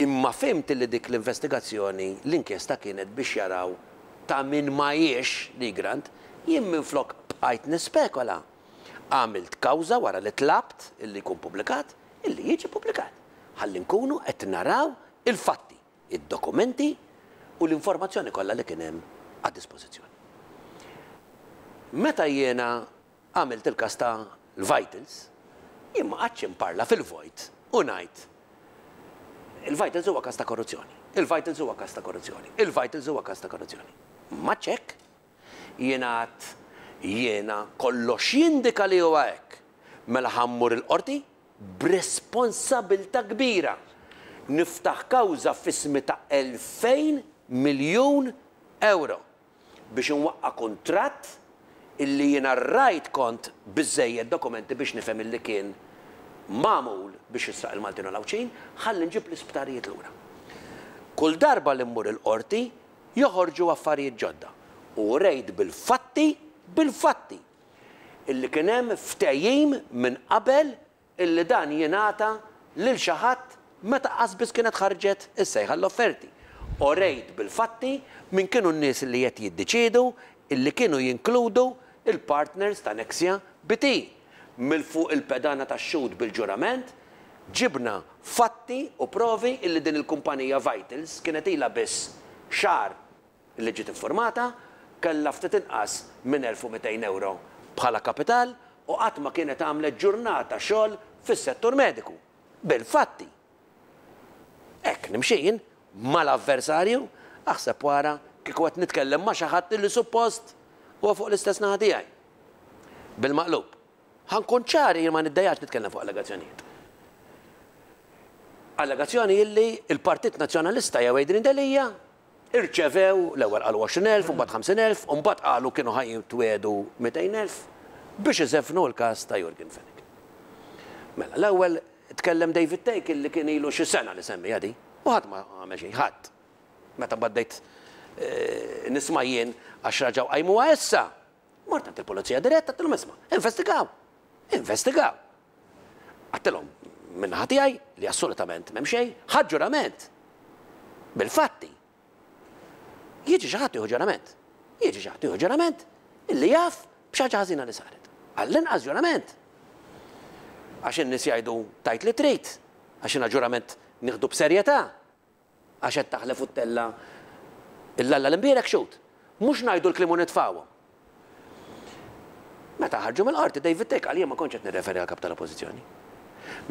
imma fhimt li dik l-investigazzjoni, l-inkjesta kienet biex jaraw ta' min ma hiex l-Egrant, jien minflok bqajt nispekola, għamilt kawża wara li tlabt illi jkun pubblikat, illi jiġi pubblikat, ħalli nkunu qed naraw il-fatti. id-dokumenti u l-informazzjoni kollha li kien hemm għad-dispożizzjoni. Meta jiena għamilt il-każ ta' l-Vitals, jien ma qgħadtx inparla fil-vojt u ngħid il-Vitals huwa każ ta' korruzzjoni, il-Vitals huwa każ ta' korruzzjoni, il-Vitals huwa każ ta' korruzzjoni. M'għadtx hekk. Jiena għedt jiena kollox jindika li huwa hekk. Mela ħa mmur il-Qorti b'responsabilità kbira niftaħ kawża f'ismi ta' 2,000 miljun ewro biex inwaqqa' kuntratt illi jiena rajt kont biżżejjed dokumenti biex nifhem illi kien magħmul biex jisraq il-Maltin u l-Għawdxin ħalli nġib l-isptarijiet lura. Kull darba li mmur il-Qorti joħorġu affarijiet ġodda u urejt bil-fatti, bil-fatti! illi kien hemm ftehim minn qabel illi dan jingħata lil xi ħadd meta qas biss kienet ħarġet is-sejħa għall-offerti. Orejt bil-fatti min kienu n-nies li qed jiddeċiedu illi kienu jinkludu l-partners ta' Nexia BT. Mill fuq il-pedana tax-xhud bil-ġurament ġibna fatti u provi illi din il-kumpanija Vitals kienet ilha biss xahar li ġiet iffurmata, kellha ftit inqas minn 1,200 ewro bħala kapital u qatt ma kienet għamlet ġurnata xogħol fis-settur mediku. Bil-fatti! Hekk nimxi jien mal-avversarju, aħseb u ara kieku qed nitkellem ma' xi ħadd li suppost huwa fuq l-istess naħa tiegħi. Bil-maqlub. Ħa nkun ċar, jien ma niddejjaqx nitkellem fuq allegazzjonijiet. Allegazzjoni illi l-Partit Nazzjonalista jew Adrian Delia Irċevew, l-ewwel qalu 20,000, imbagħad 50,000, u mbagħad qalu kienu ħa jitwiegħdu 200,000 biex iżeffnu l-każ ta' Yorgen Fenech. Mela, l-ewwel tkellem David Thake illi kien ilu xi sena li semmiha di, u ħadd ma għamel xejn, ħadd. Meta mbagħad bdejt nisma' jien għax raġgħu qajmuha issa, mort għand il-pulizija dirett għedtilhom isma', investigaw! Investigaw! Għedtilhom min-naħa tiegħi li assolutament m'hemm xejn, ħadt ġurament bil-fatti. Jiġi xi ħadd jieħu ġurament. Jiġi xi ħadd jieħu ġurament illi jaf b'xi ħaġa ħażina li saret. Għall-inqas ġurament. Għax in-nies jgħidu tgħid li trid, għax jiena ġurament nieħdu b'serjetà. Għax qed taħlef u ttella' 'l Alla l-imbierek xhud. Mhux ngħidu l-kliem u nitfgħuhom. Meta ħarġu mill-Qorti, David Thake qal jien ma kontx qed nirreferi għall-Kap tal-Oppożizzjoni.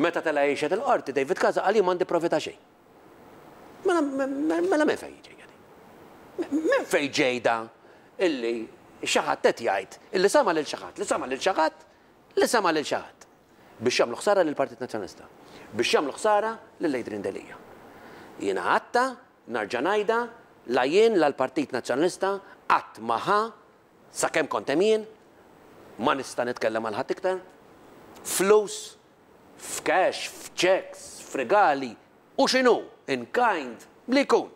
Meta tela' jixhed il-Qorti, David Casa qal jien m'għandi provi ta' xejn. Mela mela minn fejn ġejja din? Minn fejn ġej da illi xi ħadd qed jgħid illi sama' lil xi ħadd li sama' lil xi ħadd li sama' lil xi ħadd biex jagħmlu ħsara lill-Partit Nazzjonalista, biex jagħmlu ħsara lil Adrian Delia. Jiena għadtha, narġa' ngħidha, la jien la l-Partit Nazzjonalista qatt ma ħa Sakemm kont hemm jien, ma nista' nitkellem għal ħadd iktar, flus, f'cash, f'checks, f'rigali, u x'inhu, in kind, li jkun.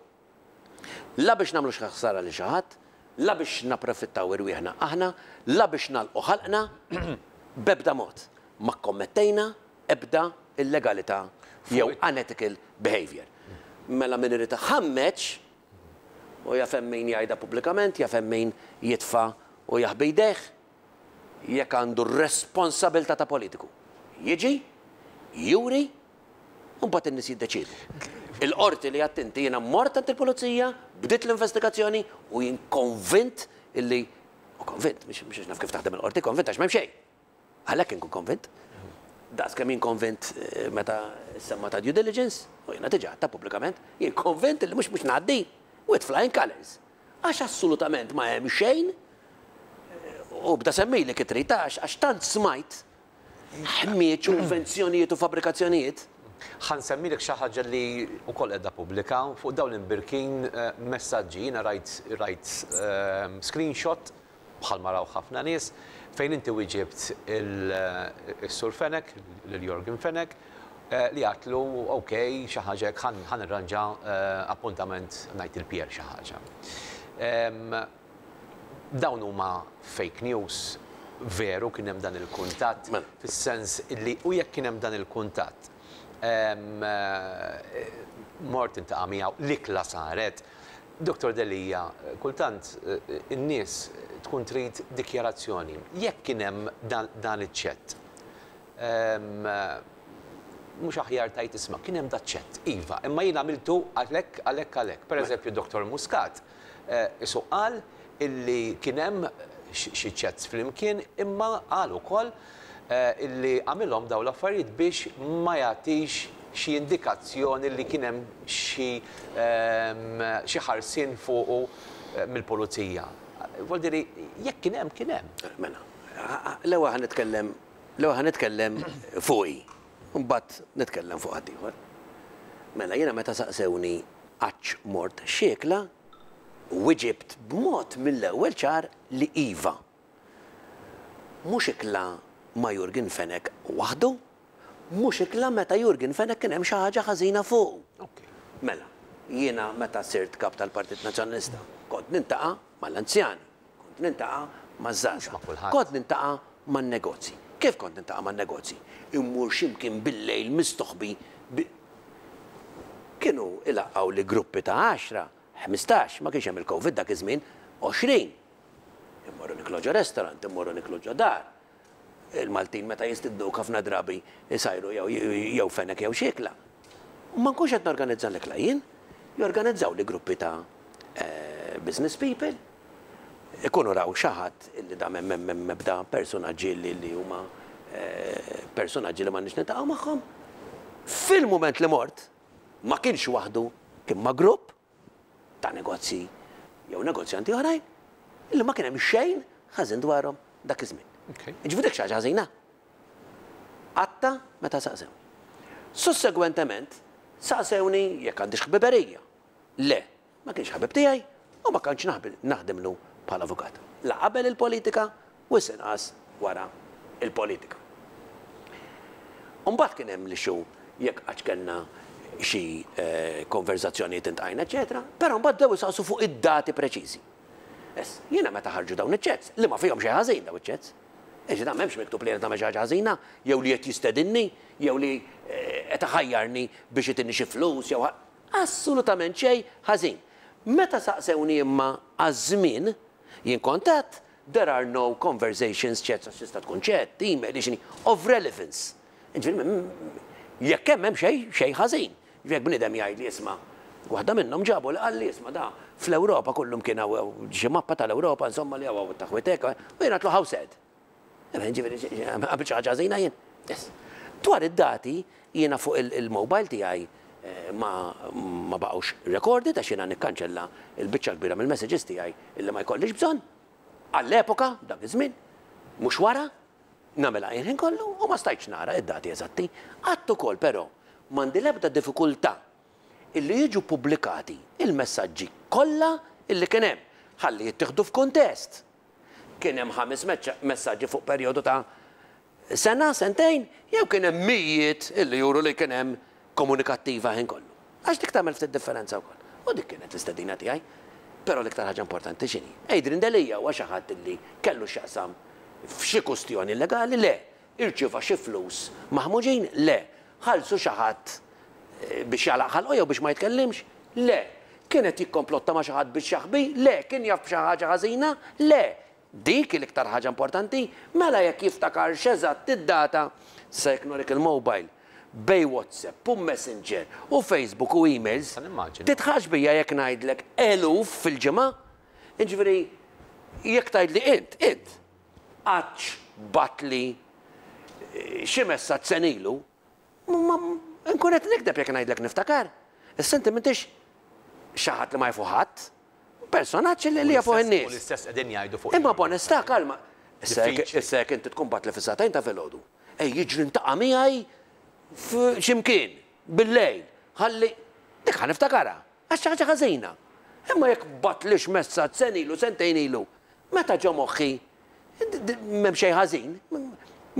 La biex nagħmlu xi ħsara lil xi ħadd, la biex napprofittaw irwieħna aħna, la biex nagħlqu ħalqna, b'ebda mod ma kkommettejna ebda illegalità jew unethical behaviour. Mela min irid iħammeġ, U jaf hemm min jgħidha pubblikament, jaf hemm min jitfa' u jaħbi jdejh. Jekk għandu r-responsabilità ta' politiku, jiġi, juri, u mbagħad in-nies jiddeċiedu. Il-qorti li għedt inti, jiena mort għand il-pulizija, bdiet l-investigazzjoni u jien konvint illi, u konvint, mhux għax naf kif taħdem il-qorti, konvint għax m'hemm xejn. Għalhekk inkun konvint. Daqs kemm jien konvint meta ssemma ta' due diligence, u jiena diġà għedtha pubblikament, jien konvint li mhux mhux ngħaddi with flying colours. Għax assolutament ma hemm xejn, u bda semmili kif trid għax għax tant smajt ħmieġ u invenzjonijiet u fabbrikazzjonijiet. Ħa nsemmilek xi ħaġa li wkoll qiegħda pubblika fuq dawn l-imbirkin messaġġi. Jiena rajt rajt screenshot bħalma raw ħafna nies, fejn inti wieġibt is-Sur Fenech, lil Yorgen Fenech, li għadtlu ok, xi ħaġa hekk ħa nirranġa appuntament ngħid il-Pierre xi ħaġa. Dawn huma fake news, veru kien hemm dan il-kuntatt, fis-sens li u jekk kien hemm dan il-kuntatt, mort tiltaqa' miegħu, l-ikla saret, Dottor Delia, kultant in-nies tkun trid dikjarazzjoni. Jekk kien hemm dan iċ-chat, mhux aħjar tgħid isma' kien hemm daċ-chat, iva, imma jien għamiltu għalhekk, għalhekk, għalhekk. Pereżempju Dottor Muscat qisu qal illi kien hemm xi chats flimkien imma qal ukoll illi għamilhom dawn l-affarijiet biex ma jagħtix xi indikazzjoni li kien hemm xi xi ħarsien fuqu mill-pulizija. Vuol dire jekk kien hemm, kien hemm. Mela, l-ewwel ħa nitkellem l-ewwel ħa nitkellem fuqi, u mbagħad nitkellem fuq ħaddieħor. Mela, jiena meta saqsewni għadx mort xiekla, wiġibt b'mod mill-ewwel ċar li iva. Mhux ikla ma' Yorgen Fenech waħdu, mhux ikla meta Yorgen Fenech kien hemm xi ħaġa ħażina fuqu. Mela, jiena meta sirt Kap tal-Partit Nazzjonalista kont nintaqa' mal-anzjani, kont nintaqa' maż-żgħażagħ, kont nintaqa' man-negozji. Kif kont nintaqa' man-negozji? Immur xi mkien bil-lejl mistoħbi bi Kienu ilaqqgħuli gruppi ta' għaxra, 15, ma kienx hemm il-Covid dak iż-żmien, 20. Immorru niklu ġo restaurant, immorru niklu ġo dar. Il-Maltin meta jistidnuk ħafna drabi jsajru jew fenek jew xi ikla. U ma nkunx qed norganizza l-ikla jien, jorganizzawli gruppi ta' business people, ikunu raw xi ħadd illi da m'hemm m'hemm ebda persunaġġi li li huma persunaġġi li m'għandniex niltaqgħu magħhom. Fil-mument li mort, ma kienx waħdu, kien ma' grupp ta' negozji jew negozjanti oħrajn li ma kien hemm xejn ħażin dwarhom dak iż-żmien. Jiġifieri dik xi ħaġa ħażina? Qatta meta saqsewni. Sussegwentement saqsewni jekk għandix ħbiberija. Le, ma kienx ħabib tiegħi u ma kontx naħdimlu bħala avukat. La qabel il-politika wisq inqas wara l-politika. U mbagħad kien hemm l-issue jekk qattx kellna xi konverżazzjonijiet intqajna eċċetera, però mbagħad bdew isaqsu fuq id-dati preċiżi. Issa, jiena meta ħarġu dawn iċ-chats, li ma fihom xejn ħażin dawn iċ-chats, jiġifieri dan m'hemmx miktub li jien qed nagħmel xi ħaġa ħażina, jew li qed jistedinni, jew li qed iħajjarni biex itini xi flus jew assolutament xejn ħażin. Meta saqsewni imma għaż-żmien, jien kont għedt, there are no conversations, chats, għax tista' tkun chat, email, x'inhi, of relevance. Jiġifieri jekk hemm hemm xejn xejn ħażin. Jiġifieri jekk bniedem jgħidli isma' waħda minnhom ġabu li qalli isma' da fl-Ewropa kullum kien hawn xi mappa tal-Ewropa insomma li hawn it-taħwit hekk u jien għedtlu how sad. Ġifieri għamilt xi ħaġa ħażina jien? Yes. Dwar id-dati, jiena fuq il-mobile tiegħi ma ma baqgħux recorded għax jiena nikkanċella l-biċċa l-kbira mill-messages tiegħi illi ma jkollix bżonn. Għall-epoka, dak iż-żmien, mhux wara, nagħmilha jien ħin kollu u ma stajtx nara id-dati eżatti. Għadt ukoll però m'għandi l-ebda diffikultà illi jiġu ppubblikati il-messaġġi kollha illi kien hemm ħalli jittieħdu f'kuntest. Kien hemm ħames messaġġi fuq perjodu ta' sena, sentejn, jew kien hemm mijiet illi juru li kien hemm komunikattiva ħin kollu. Għax dik tagħmel ftit differenza wkoll. U dik kienet l-istedina tiegħi. Però l-iktar ħaġa importanti x'inhi? Adrian Delia huwa xi ħadd illi kellu x'jaqsam f'xi kustjoni illegali? Le. Irċieva xi flus maħmuġin? Le. Ħallsu xi ħadd biex jagħlaq ħalqu jew biex ma jitkellimx? Le. Kien qed jikkomplotta ma' xi ħadd biex jaħbi? Le. Kien jaf b'xi ħaġa ħażina? Le. Dik hi l-iktar ħaġa importanti. Mela jekk jiftakarx eżatt id-data, sa jekk nurik il-mobile, bejn WhatsApp u Messenger u Facebook u emails, tidħaqx bija jekk ngħidlek eluf fil-ġimgħa. Jiġifieri jekk tgħidli int, int, qattx bgħattli xi messaġġ sena ilu, nkun qed nigdeb jekk ngħidlek niftakar. Issa inti m'intix xi ħadd li ma jafu ħadd. Personaġġ li jafuh in-nies. U l-istess qegħdin jgħidu fuq. Imma b'onestà kalma. Issa jekk inti tkun bgħattli fis-sagħtejn ta' filgħodu, ej jiġri ntaqa' miegħi f'xi mkien bil-lejl ħalli dik ħa niftakarha għax xi ħaġa ħażina. Imma jekk bgħattlix messaġġ sena ilu, sentejn ilu, meta ġo moħħi M'hemm xejn ħażin,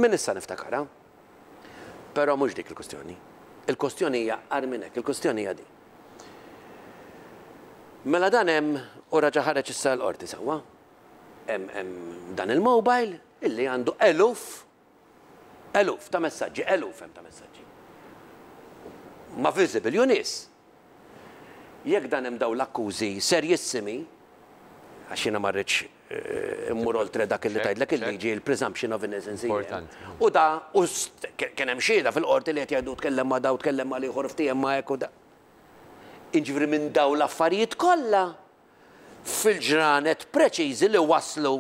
minn issa niftakarha. Però mhux dik il-kwistjoni. Il-kwistjoni hija agħar minn hekk, il-kwistjoni hija din. Mela dan hemm u raġa' ħareġ issa l-qorti sewwa. Hemm hemm dan il-mobile illi għandu eluf eluf ta' messaġġi, eluf hemm ta' messaġġi. Ma' visible ju nies. Jekk dan hemm dawn l-akkużi serjissimi, għax jiena ma rridx immur oltre dak li tgħidlek il-liġi, il-presumption of innocence hija. U da, u kien hemm xhieda fil-qorti li qed jgħidu tkellem ma' da u tkellem mal-ieħor ftiehem ma' hekk u da. Jiġifieri minn dawn l-affarijiet kollha fil-ġranet preċiżi li waslu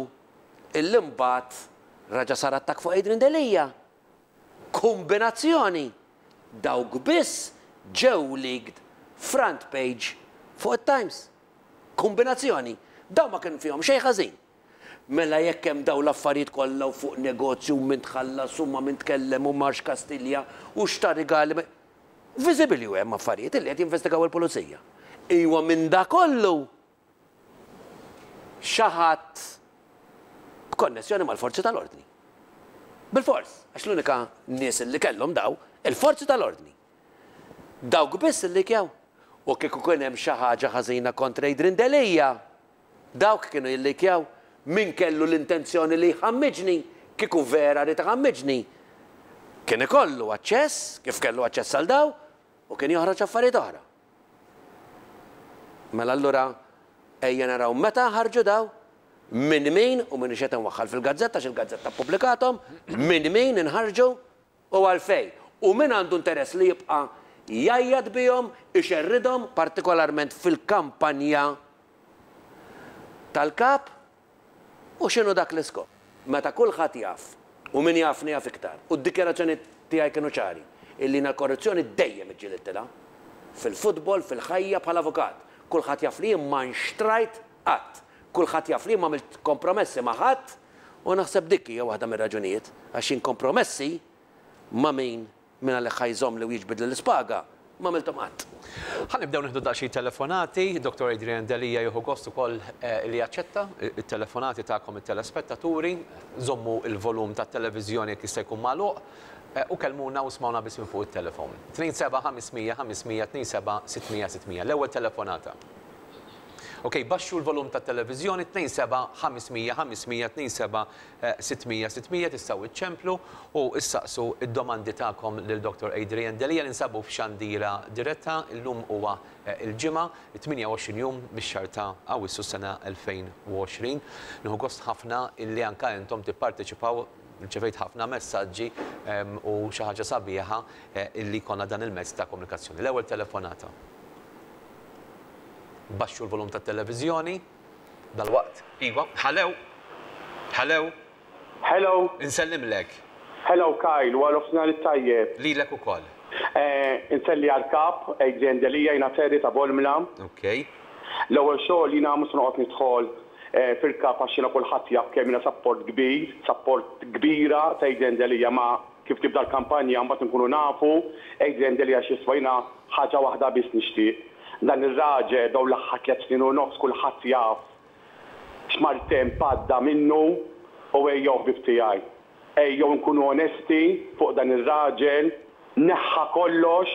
illi mbagħad raġa' sar attakk fuq Adrian Delia. Kumbinazzjoni! Dawk biss ġew leaked front page fuq it-Times. Kumbinazzjoni! Dawn ma kien fihom xejn ħażin. Mela jekk hemm dawn l-affarijiet kollha u fuq negozju u min tħallas u ma' min tkellem u marx Kastilja u x'ta rigali Visibili u hemm affarijiet illi qed jinvestigaw il-pulizija. Iwa minn da kollu xi ħadd b'konnessjoni mal-forzi tal-ordni. Bilfors, għax l-unika nies li kellhom daw, il-forzi tal-ordni. Dawk biss illikjaw. U kieku kien hemm xi ħaġa ħażina kontra Adrian Delia, dawk kienu jillikjaw. Min kellu l-intenzjoni li jħammiġni, kieku vera ried iħammiġni, kien ikollu aċċess, kif kellu aċċess għal daw, u kien joħroġ affarijiet oħra. Mela allura ejja naraw meta ħarġu daw, minn min, u m'iniex qed inwaħħal fil-gazzetta għax il-gazzetta ppubblikathom, minn min inħarġu u għalfejn. U min għandu interess li jibqa' jgħajjat bihom, ixerridhom, partikolarment fil-kampanja tal-Kap, U x'inhu dak l-iskop? Meta kulħadd jaf, u min jafni jaf iktar, u d-dikjarazzjonijiet tiegħi kienu ċari, illi jiena l-korruzzjoni dejjem iġġilidtilha. Fil-futbol, fil-ħajja, bħala avukat. Kulħadd jaf li jien ma nxtrajt qatt. Kulħadd jaf li jien m'għamilt kompromessi ma' ħadd u naħseb dik hija waħda mir-raġunijiet għax jien kompromessi ma' min Min għalih ħa jżommli u jiġbidli l-ispaga, m'għamilthom qatt. Ħa nibdew nieħdu daqsxejn telefonati. Dottor Adrian Delia jieħu gost ukoll li jaċċetta t-telefonati tagħkom it-telespettaturi. Żommu l-volum tat-televiżjoni jekk jista' jkun magħluq u kellmuna u smgħuna biss minn fuq it-telefon. 27 500 500 27 600 600. L-ewwel telefonata. Ok, baxxu l-volum tat-televiżjoni 27 500 500 27 600 600 tistgħu iċċemplu u issaqsu d-domandi tagħkom lil Dottor Adrian Delia. Ninsabu f'xandira diretta, illum huwa l-Ġimgħa, it-28 jum mix-xahar ta' Awwissu s-sena 2020. Nieħu gost ħafna illi anke intom tipparteċipaw, rċevejt ħafna messaġġi u xi ħaġa sabiħa illi jkollna dan il-mezz ta' komunikazzjoni. L-ewwel telefonata. Baxxu l-volum tat-televiżjoni. Dalwaqt. Iva. Ħalew. Ħalew. Hello. Insellimlek. Hello Kyle, wara nofsinhar it-tajjeb. Lilek ukoll. Inselli għall-Kap, Adrian Delia, jiena Terry ta' Bormla. Ok. L-ewwel xogħol jiena mhux se noqgħod nidħol fil-Kap għax jiena kulħadd jaf kemm jiena sapport kbir, sapport kbira ta' Adrian Delia ma kif tibda l-kampanja mbagħad inkunu nafu Adrian Delia x'jiswa jiena ħaġa waħda biss nixtieq. Dan ir-raġel dawn l-aħħar tlett snin u nofs kulħadd jaf x'maltemp għadda minnu u ejjew ħbieb tiegħi, ejjew inkunu onesti fuq dan ir-raġel, neħħa kollox,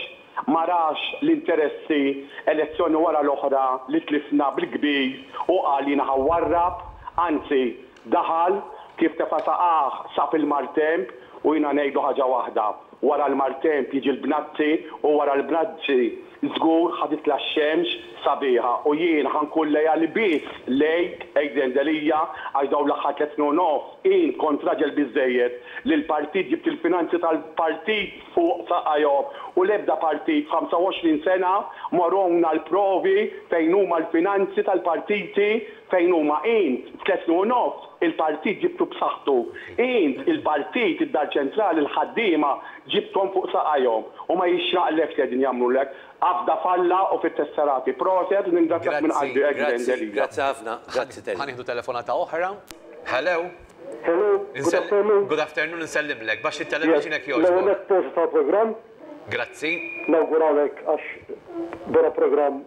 ma rax l-interessi elezzjoni wara l-oħra li tlifna bil-kbir u qal jiena ħa nwarrab, anzi daħal kif tefa' saqajh sab il-maltemp u jiena ngħidlu ħaġa waħda, wara l-maltemp jiġi l-bnazzi u wara l-bnazzi Żgur ħa titla' x-xemx sabiħa u jien ħa nkun leali biss lejk, Adrian Delia, għax dawn l-aħħar tlett snin u nofs int kont raġel biżżejjed li l-partit ġibt il-finanzi tal-partit fuq saqajhom u l-ebda partit f'25 sena ma wrewna l-provi fejn huma l-finanzi tal-partiti fejn huma int f'tlett snin u nofs il-partit ġibtu b'saħħtu int il-partit id-Dar Ċentrali l-ħaddiema ġibthom fuq saqajhom u ma jixraqlekx li qegħdin jagħmlulek. Afda f'Alla u fit-tesserati. Proset u ningrazzjak minn Grazzi, qalbi Adrian grazzi, Delia. grazzi ħafna, grazzi Terry. Ħa nieħdu telefonata oħra. Hello. Hello, good afternoon. Good afternoon, insellimlek. Baxxi Yes, t-television jekk l-ewwel jogħġbok. nett prosit tal-programm. Grazzi. Nawguralek għax vera programm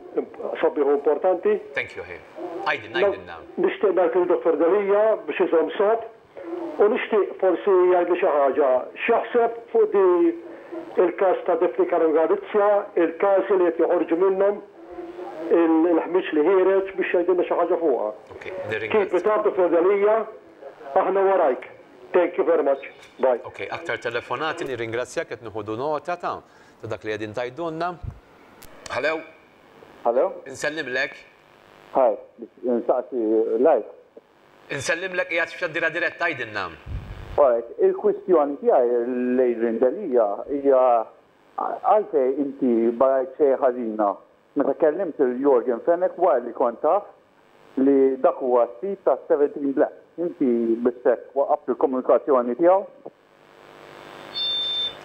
sabiħ u importanti. Thank you, ħi. Għidilna, għidilna. Nixtieq ngħid lil Dottor Delia biex iżomm sod U nixtieq forsi jgħidli xi ħaġa x'jaħseb fuq di il-każ ta' Daphne Caruana Galizia, il-każi li qed joħorġu minnhom, il-ħmieġ li ħiereġ biex jgħidilna xi ħaġa fuqha. Keep it up Dottor Delia, aħna warajk. Thank you very much. Bye. Ok, aktar telefonati, nirringrazzjak qed nieħudu nota ta' ta' dak li qegħdin tgħidulna. Hello. Hello. Insellimlek. Hi, nsaqsi live. Insellimlek qiegħed f'xandira diretta għidilna. Alright, il-kwistjoni tiegħi l-Adrian Delia hija għalfejn inti ma rajt xejn ħażina meta kellimt lil Yorgen Fenech wara li kont taf li dak huwa s-sid ta' 17 Black. Inti biss hekk waqqaft il-komunikazzjoni tiegħu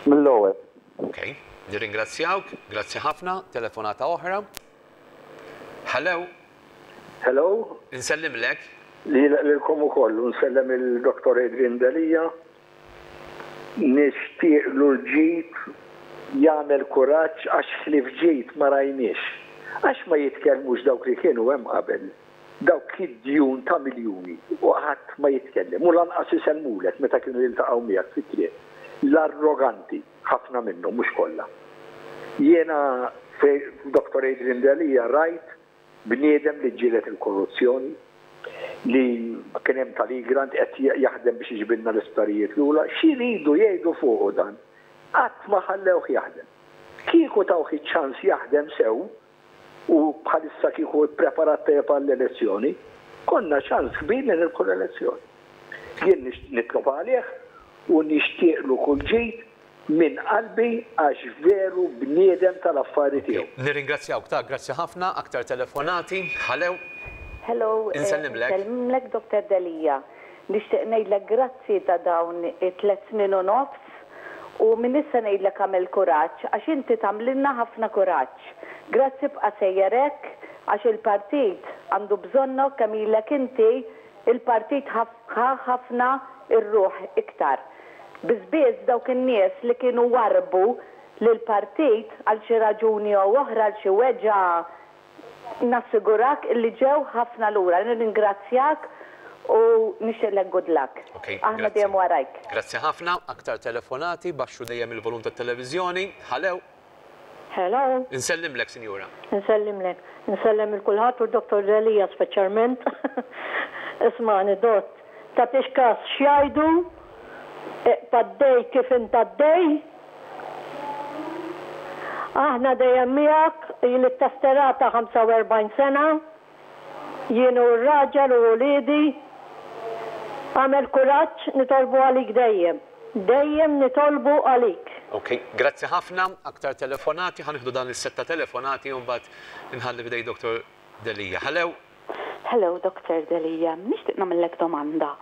mill-ewwel. Ok, nirringrazzjawk, grazzi ħafna, telefonata oħra. Hello. Hello. Insellimlek. Lilkom ukoll u nsellem lil Dottor Adrian Delia. Nixtieqlu l-ġid, jagħmel kuraġġ għax ħlief ġid ma rajniex. Għax ma jitkellmux dawk li kienu hemm qabel, dawk id-djun ta' miljuni u ħadd ma jitkellem u lanqas isellmulek meta kienu jiltaqgħu miegħek fit-triq. L-arroganti, ħafna minnhom mhux kollha. Jiena f'Dottor Adrian Delia rajt Bniedem li ġġieled il-korruzzjoni, li kien hemm tal-Egrant qed jaħdem biex iġibilna l-isptarijiet lura, x'iridu jgħidu fuqu dan? Qatt ma ħallewh jaħdem. Kieku tawh iċ-ċans jaħdem sew u bħalissa kieku ppreparat tajjeb għall-elezzjoni, konna ċans kbir li nirbħu l-elezzjoni. Jien nitlob għalih u nixtieqlu kull ġid minn qalbi għax veru bniedem tal-affari tiegħu. Nirringrazzjawk ta' grazzi ħafna, aktar telefonati. Hello. Hello, Insellimlek. Insellimlek Doctor Delia. Nixtieq ngħidlek grazzi ta' dawn it-tlett snin u nofs u minn issa ngħidlek agħmel kuraġġ għax inti tagħmlilna ħafna kuraġġ. Grazzi bqa' sejjer hekk għax il-partit għandu bżonnok kemm ilek inti Il-partit ħa ħafna r-ruħ iktar. Biss biss dawk in-nies li kienu warrbu lill-partit għal xi raġuni jew oħra, għal xi weġgħa, nassigurak illi ġew ħafna lura. Nirringrazzjak u nixtieqlek good luck. Ok, Aħna grazzi. dejjem warajk. Grazzi ħafna. Aktar telefonati, baxxu dejjem il-volum tat-televiżjoni. Ħalew. Hello. Insellimlek, sinjura. Insellimlek. Insellem il kulħadd u Dottor Delia speċjalment. Ismagħni Dott, tagħtix kas x'jgħidu, iqpa' għaddej kif int għaddej. Aħna dejjem miegħek, ili ttesserata 45 sena. Jien u r-raġel u uliedi. Agħmel kuraġġ, nitolbu għalik dejjem. Dejjem nitolbu għalik. Ok, grazzi ħafna. Aktar telefonati, ħa nieħdu dan is-sett ta' telefonati u mbagħad inħalli f'idejk Dottor Delia. Hello. Hello Doctor Delia, nixtieq nagħmillek domanda.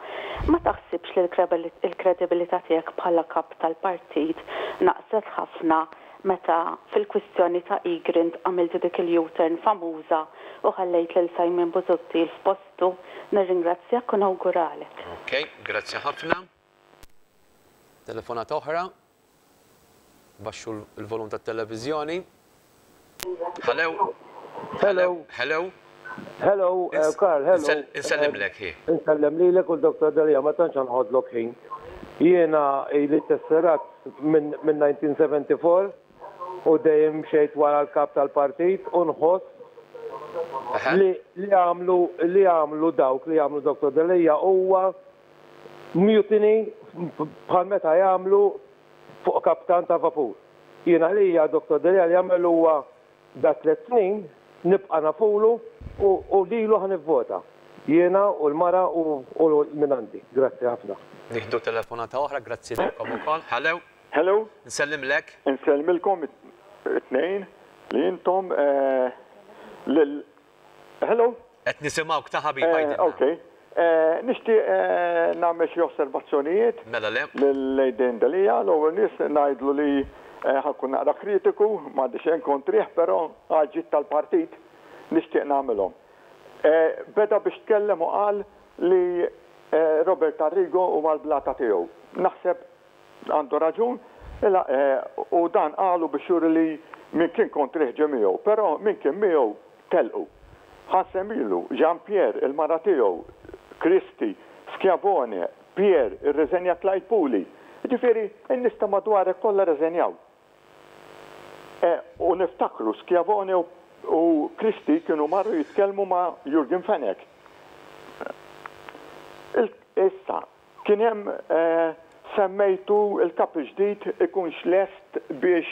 Ma taħsibx li l-kredibilità tiegħek bħala kap tal-partit naqset ħafna meta fil-kwistjoni ta' Egrant għamilt dik il-U-turn famuża u ħallejt lil Simon Busuttil f'postu? Nirringrazzjak u nawguralek. Ok, grazzi ħafna. Telefonata oħra. Baxxu l-volum tat-televiżjoni. Hello. Hello. Hello. Hello, eh, Karl, hello. Insellimlek hi. Insellem lilek u l-Dr. Delia, ma tantx nħodlok ħin. Jiena ili tesserat minn 1974 u dejjem mxejt wara l-kap tal-partit u nħoss li li għamlu li għamlu dawk li għamlu Dr. Delia huwa mutiny bħal meta jagħmlu fuq kaptan ta' vapur. Jien għalija Dottor Delia li għamel huwa da tlett snin nibqa' nafulu u lilu ħa nivvota. Jiena u l-mara u min għandi. Grazzi ħafna. Nieħdu telefonata oħra, grazzi lilkom ukoll. Hello. Hello. Nsellimlek. Insellmilkom it-tnejn li intom lil Hello? Qed nisimgħuk ta' ħabib għidilna. Ok. Nixtieq nagħmel xi osservazzjonijiet. Mela le. Lil Adrian Delia. L-ewwel nies ngħidlu li ħa nkun naqra kritiku, m'għandi xejn kontrih, però għall-ġid tal-partit nixtieq nagħmilhom. Beda biex tkellem u qal li Robert Arrigo huwa l-blata tiegħu. Naħseb Għandu raġun, u dan qalu biex juri li min kien kontrih ġie miegħu, però min kien miegħu telqu. Ħa nsemmilu, Jean Pierre, il-mara tiegħu, Christy, Schiavone, Pierre, irriżenja Clyde Puli. Jiġifieri, in-nies ta' madwarek kollha rriżenjaw. U niftakru, Schiavone u Christie kienu marru jitkellmu ma' Jurgen Fenech. Issa, Kien hemm semmejtu l-Kap il-ġdid ikunx lest biex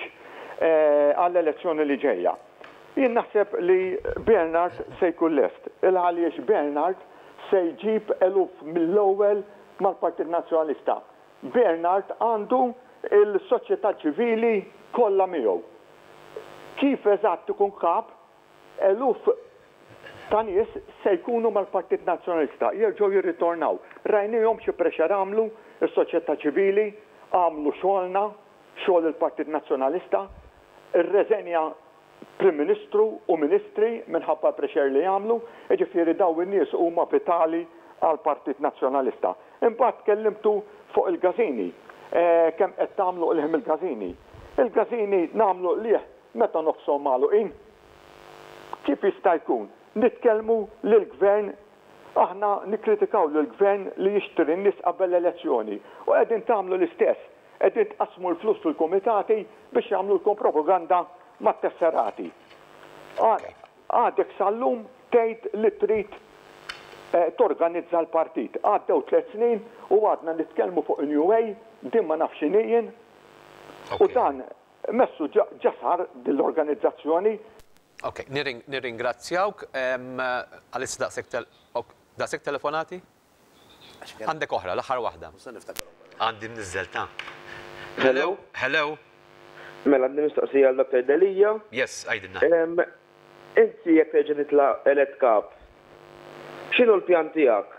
għall-elezzjoni li ġejja. Jien naħseb li Bernard se jkun lest. Il għaliex Bernard se jġib eluf mill-ewwel mal-Partit Nazzjonalista. Bernard għandu l-soċjetà ċivili kollha miegħu. Kif eżatt ikun Kap, Eluf ta' nies se jkunu mal-Partit Nazzjonalista, jerġgħu jirritornaw. Rajniehom xi pressure għamlu, is-soċjetà ċivili, għamlu xogħolna, xogħol il-Partit Nazzjonalista. Irreżenja Prim Ministru u Ministri minħabba l-pressure li għamlu, jiġifieri dawn in-nies huma vitali għall-Partit Nazzjonalista. Imbagħad tkellimtu fuq il-gażini, kemm qed tagħmlu qligħ mill-gażini. Il-gażini nagħmlu qligħ Meta nofshom magħluqin? Kif jista' jkun? Nitkellmu lill-Gvern, aħna nikkritikaw lill-Gvern li jixtri n-nies qabel l-elezzjoni u qegħdin tagħmlu l-istess, qegħdin tqassmu l-flus fil-kumitati biex jagħmlulkom propaganda mat-tesserati. Għadek sal-lum tgħid li trid torganizza l-partit. Għaddew tlett snin u għadna nitkellmu fuq in-new way, din ma nafx x'inhi jien. U dan Messu ġa sar din l-organizzazzjoni. Ok, nirringrazzjawk. Għalissa daqshekk daqshekk telefonati? Għandek oħra, l-aħħar waħda. Għandi mniżżel ta'. Hello. Hello. Mela għandi mistoqsija għal Dr. Delia. Yes, għidilna. Inti jekk terġa' titla' elett kap, x'inhu l-pjan tiegħek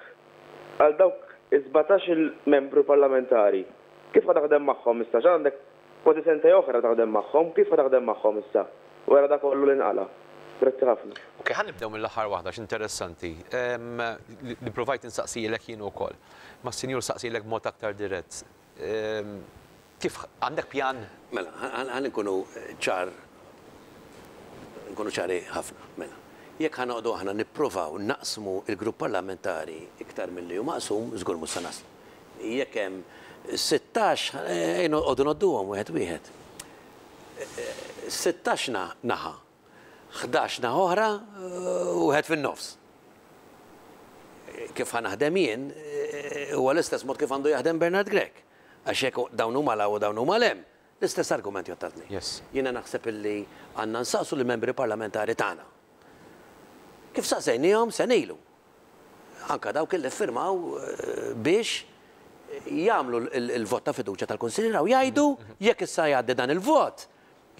għal dawk is-17-il membru parlamentari? Kif ħa taħdem magħhom issa? X'għandek Kważi sentejn oħra taħdem magħhom, kif ħa taħdem magħhom issa, wara dak kollu li nqala'? Grazzi ħafna. Ok, ħa nibdew mill-aħħar waħda għax interessanti, li ppruvajt insaqsilek jien ukoll. Ma s-sinjur saqsilek b'mod aktar dirett. Kif, għandek pjan? Mela, ħa nkunu ċar, nkunu ċari ħafna. Mela, jekk ħa noqogħdu aħna nippruvaw naqsmu l-grupp parlamentari iktar milli hu maqsum, żgur mhux se naslu. Jekk hemm 16, ejja noqogħdu ngħodduhom wieħed wieħed. 16 naħa, 11 naħa oħra u wieħed fin-nofs. Kif ħa naħdem jien huwa l-istess mod kif għandu jaħdem Bernard Grech. Għax jekk dawn huma 'l hawn u dawn huma 'l hemm, l-istess argument jgħodd għat-tnejn. Jiena naħseb illi għandna nsaqsu lill-membri parlamentari tagħna. Kif saqsejniehom sena ilu. anke dawk li ffirmaw biex jagħmlu l-vot ta' fiduċja tal-Kunsilliera u jgħidu jekk issa jgħaddi dan il-vot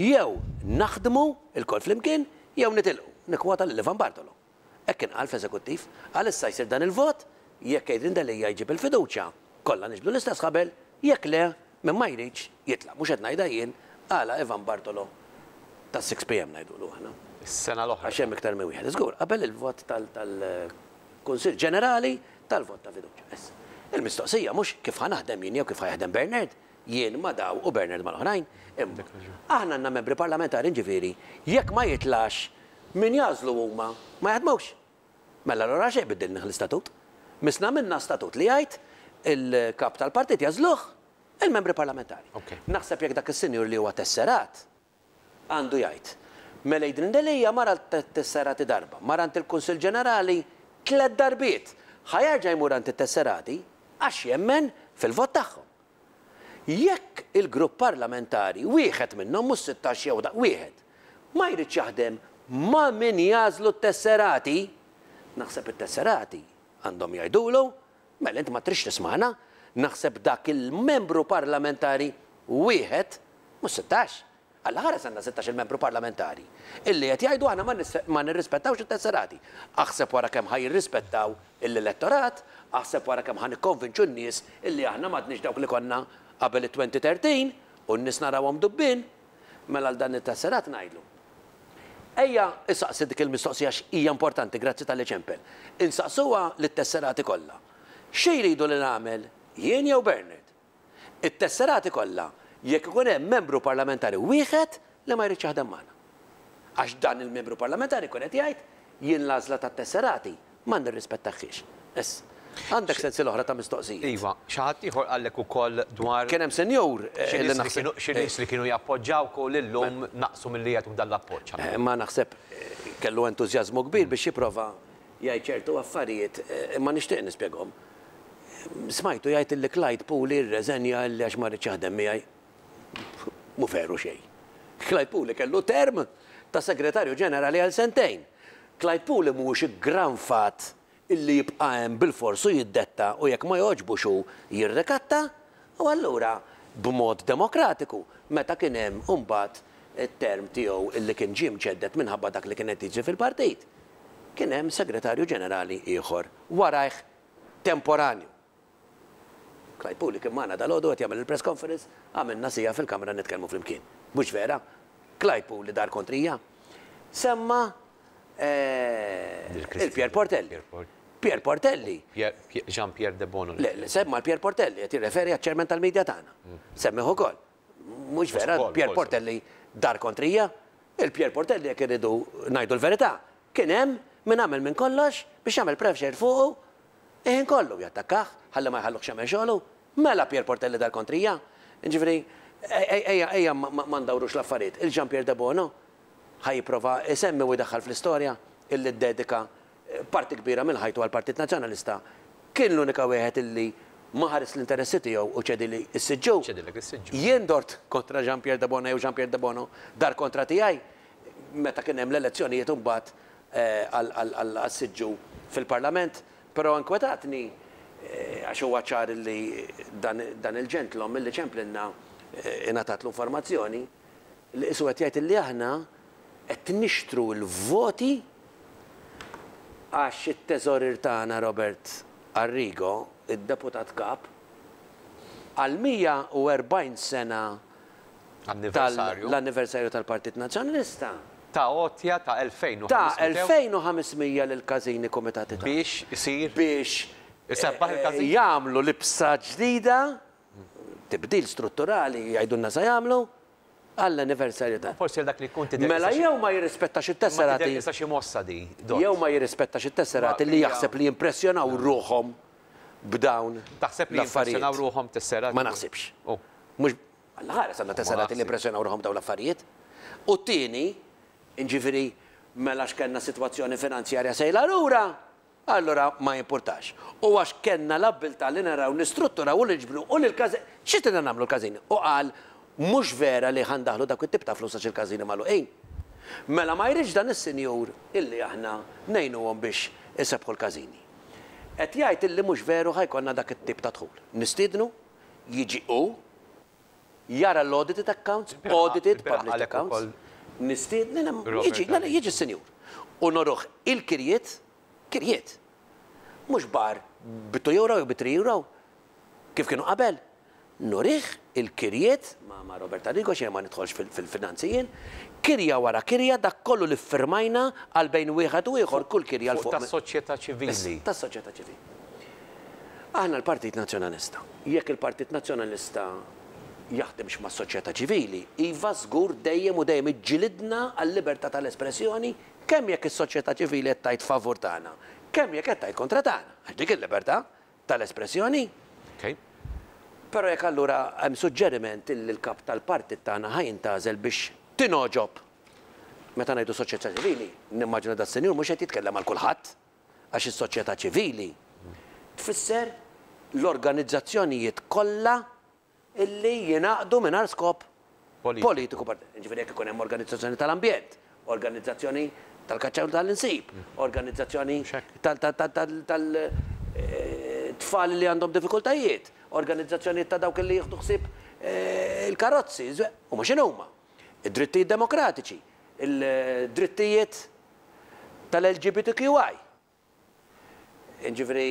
jew naħdmu lkoll flimkien jew nitilqu. Nikkwota lil Ivan Bartolo. Hekk kien qal fl-Eżekuttiv. Qal issa jsir dan il-vot. Jekk Adrian Delia jġib il-fiduċja, kollha niġbdu l-istess ħabel, jekk le, min ma jridx, jitlaq. Mhux qed ngħidha jien, qalha Ivan Bartolo tas-6 PM ngħidulu aħna. Is-sena l-oħra. Għax hemm iktar minn wieħed. Żgur, qabel il-vot tal-Kunsill Ġenerali tal-vot ta' fiduċja. Issa, il-mistoqsija mhux kif ħa naħdem jien jew kif ħa jaħdem Bernard, jien ma' daw u Bernard mal-oħrajn, imma aħna għandna membri parlamentari jiġifieri jekk ma jitlax min jagħżlu huma ma jaħdmux. Mela allura għalxejn biddilnih l-istatut? Missna għamilna statut li jgħid il-kap tal-partit jagħżluh il-membri parlamentari. Naħseb jekk dak is-sinjur li huwa tesserat għandu jgħid, mela Adrian Delia mar għal tesserati darba, mar għand il-Kunsill Ġenerali tlett darbiet, ħa jerġa' jmur għand it-tesserati għax jemmen fil-vot tagħhom. Jekk il-grupp parlamentari, wieħed minnhom, mhux 16 jew wieħed, ma jridx jaħdem ma' min jagħżlu t-tesserati, naħseb it-tesserati għandhom jgħidulu, mela int ma tridx tismagħna, naħseb dak il-membru parlamentari wieħed, mhux 16, Alla ħares għandna sittax-il membru parlamentari illi qed jgħidu aħna ma nirrispettawx it-tesserati. Aħseb wara kemm ħa jirrispettaw l-elettorat, aħseb wara kemm ħa nikkonvinċu n-nies illi aħna m'għadniex dawk li konna qabel it-2013 u n-nies narawhom dubbien. Mela għal dan it-tesserat ngħidlu. Ejja isaqsi dik il-mistoqsija għax hija importanti, grazzi talli ċempel. Insaqsuha lit-tesserati kollha. Xi jridu li nagħmel jien jew Bernard? it-tesserati kollha jekk ikun hemm membru parlamentari wieħed li ma jridx jaħdem magħna. Għax dan il-membru parlamentari jkun qed jgħid jien l-għażla tat-tesserati ma nirrispettahiex. Issa, għandek sensiela oħra ta' mistoqsijiet. Iva, xi ħadd ieħor qallek ukoll dwar. Kien hemm senjur li naħseb. Xi nies li kienu jappoġġawk u li llum naqsu milli jagħtuk dan l-appoġġ. Ma naħseb kellu entużjażmu kbir biex jipprova jgħid ċertu affarijiet imma nixtieq nispjegahom. Smajtu jgħid illi Clyde Puli rreżenja illi għax ma riedx jaħdem miegħi. Mhu veru xejn. Clyde Puli kellu term ta' Segretarju Ġenerali għal sentejn. Clyde Puli mhuwiex iggranfat illi jibqa' hemm bilfors u jiddetta u jekk ma jogħġbux hu jirrikatta u allura b'mod demokratiku meta kien hemm imbagħad it-term tiegħu illi kien ġie mġedded minħabba dak li kien qed jiġri fil-partit kien hemm Segretarju Ġenerali ieħor warajh temporanju. Clyde Puli kien magħna dalgħodu qed jagħmel il-press conference, għamilna siegħa fil-kamra nitkellmu flimkien. Mhux vera? Clyde Puli dar kontrija. Semma il-Pierre Portelli. Pierre Portelli. Jean Pierre Debono. Le, le, semma l-Pierre Portelli, qed jirreferi għaċ-chairman tal-media tagħna. Semmih ukoll. Mhux vera, Pierre Portelli dar kontrija. Il-Pierre Portelli jekk irridu ngħidu l-verità, Kien hemm min għamel minn kollox biex jagħmel pressure fuqu il-ħin kollu, jattakkah ħalli ma jħalluhx jagħmel xogħlu. Mela Pierre Portelli dar kontrija? Jiġifieri, ejja, ejja ma ndawrux l-affarijiet. Il-Jean Pierre Debono ħa jipprova jsemmi u jdaħħal fl-istorja illi ddedika parti kbira minn ħajtu għall-Partit Nazzjonalista kien l-unika wieħed illi ma ħares l-interessi tiegħu u ċedili s-siġġu. Ċedilek is-siġġu. Jien dort kontra Jean Pierre Debono jew Jean Pierre Debono dar kontra tiegħi? meta kien hemm l-elezzjonijiet imbagħad għas-siġġu fil-Parlament, però inkwetatni għax huwa ċar li dan il-ġentlom illi ċemplilna ingħatatlu informazzjoni li qisu qed jgħid illi aħna qed nixtru l-voti għax it-teżorier tagħna Robert Arrigo, id-Deputat Kap, għal 140 sena tal-anniversarju tal-Partit Nazzjonalista. Ta għotja ta' 2500. Ta' 2500 lill-każini kumitati tagħna. Biex isir. Biex. Isebbaħ il-każin. Jagħmlu libsa ġdida, tibdil strutturali jgħidulna se jagħmlu, għall-anniversarju ta'. Forsi għal dak li jkun tidher. Mela jew ma jirrispettax it-tesserati. Ma tidher qisha xi mossa di, Dott. Jew ma jirrispettax it-tesserati li jaħseb li jimpressjonaw ruħhom b'dawn l-affarijiet. Taħseb li jimpressjonaw ruħhom tesserati? Ma naħsibx. Mhux Alla ħares għandna tesserati li jimpressjonaw ruħhom b'dawn l-affarijiet. U t-tieni, jiġifieri mela għax kellna sitwazzjoni finanzjarja sejla lura, allura ma jimpurtax. U għax kellna l-abbiltà li naraw nistrutturaw u niġbru u lil każin, xi tridna nagħmlu l-każini? U qal mhux vera li ħa ndaħħlu dawk it-tip ta' flus għax il-każini magħluqin. Mela ma jridx dan is-sinjur illi aħna ngħinuhom biex isebbħu l-każini. Qed jgħid illi mhux veru ħa jkollna dak it-tip ta' dħul. Nistiednu jiġi hu, jara l-audited accounts, audited published accounts, nistiednu, jiġi, le, le, jiġi s-sinjur. U noruh il-kirjiet, kirjiet, mhux bar Bi 2 euro jew bi 3 euro? Kif kienu qabel? Nurih il-kirjiet ma' Robert Arrigo għax jiena ma nidħolx fil-finanzi jien, kirja wara kirja dak kollu li ffirmajna għal bejn wieħed u ieħor kull kirja 'l fuq. Fuq tas-soċjetà ċivili. Tas-soċjetà ċivili. Aħna l-Partit Nazzjonalista. Jekk il-Partit Nazzjonalista jaħdimx mas-soċjetà ċivili, iva żgur dejjem u dejjem iġġilidna għal-libertà tal-espressjoni kemm jekk is-soċjetà ċivili qed tgħid favur tagħna, kemm jekk qed tgħid kontra tagħna, għax dik il-libertà tal-espressjoni. Però jekk allura hemm suġġeriment illi l-kap tal-partit tagħna ħa jintgħażel biex tingħoġob, meta ngħidu soċjetà ċivili, nimmaġina das-sinjur mhux qed jitkellem għal kulħadd, għax is-soċjetà ċivili tfisser l-organizzazzjonijiet kollha illi jingħaqdu mingħajr skop politiku Jiġifieri jekk ikun hemm organizzazzjoni tal-ambjent, organizzazzjoni tal-kaċċa u tal-insib, organizzazzjoni tal-tfal li għandhom diffikultajiet, organizzazzjonijiet ta' dawk li jieħdu ħsieb il-karozzi, huma x'inhuma? Id-drittijiet demokratiċi, il-drittijiet tal-LGBTQI. Jiġifieri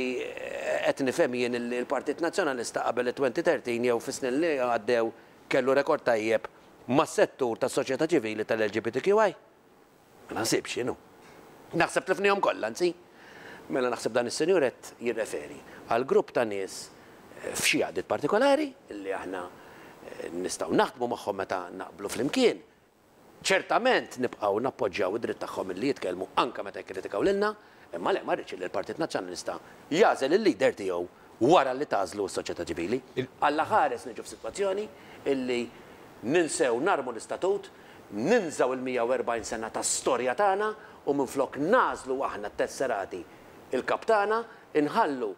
qed nifhem jien li l-Partit Nazzjonalista qabel it-2013 jew fis-snin li għaddew kellu rekord tajjeb mas-settur tas-soċjetà ċivili tal-LGBTQI? Ma naħsibx jien hu. Naħseb tlifnihom kollha anzi. Mela naħseb dan is-sinjur qed jirreferi għal grupp ta' nies f'xi għaqdiet partikolari li aħna nistgħu naħdmu magħhom meta naqblu flimkien. Ċertament nibqgħu nappoġġjaw id-dritt tagħhom illi jitkellmu anke meta jikkritikaw lilna, imma le ma rridx illi l-Partit Nazzjonalista jagħżel il-leader tiegħu wara li tagħżlu s-soċjetà ċivili. Alla ħares niġu f'sitwazzjoni illi ninsew narmu l-istatut, ninżgħu il-140 sena ta' storja tagħna u minflok nagħżlu aħna t-tesserati il-kap tagħna, inħallu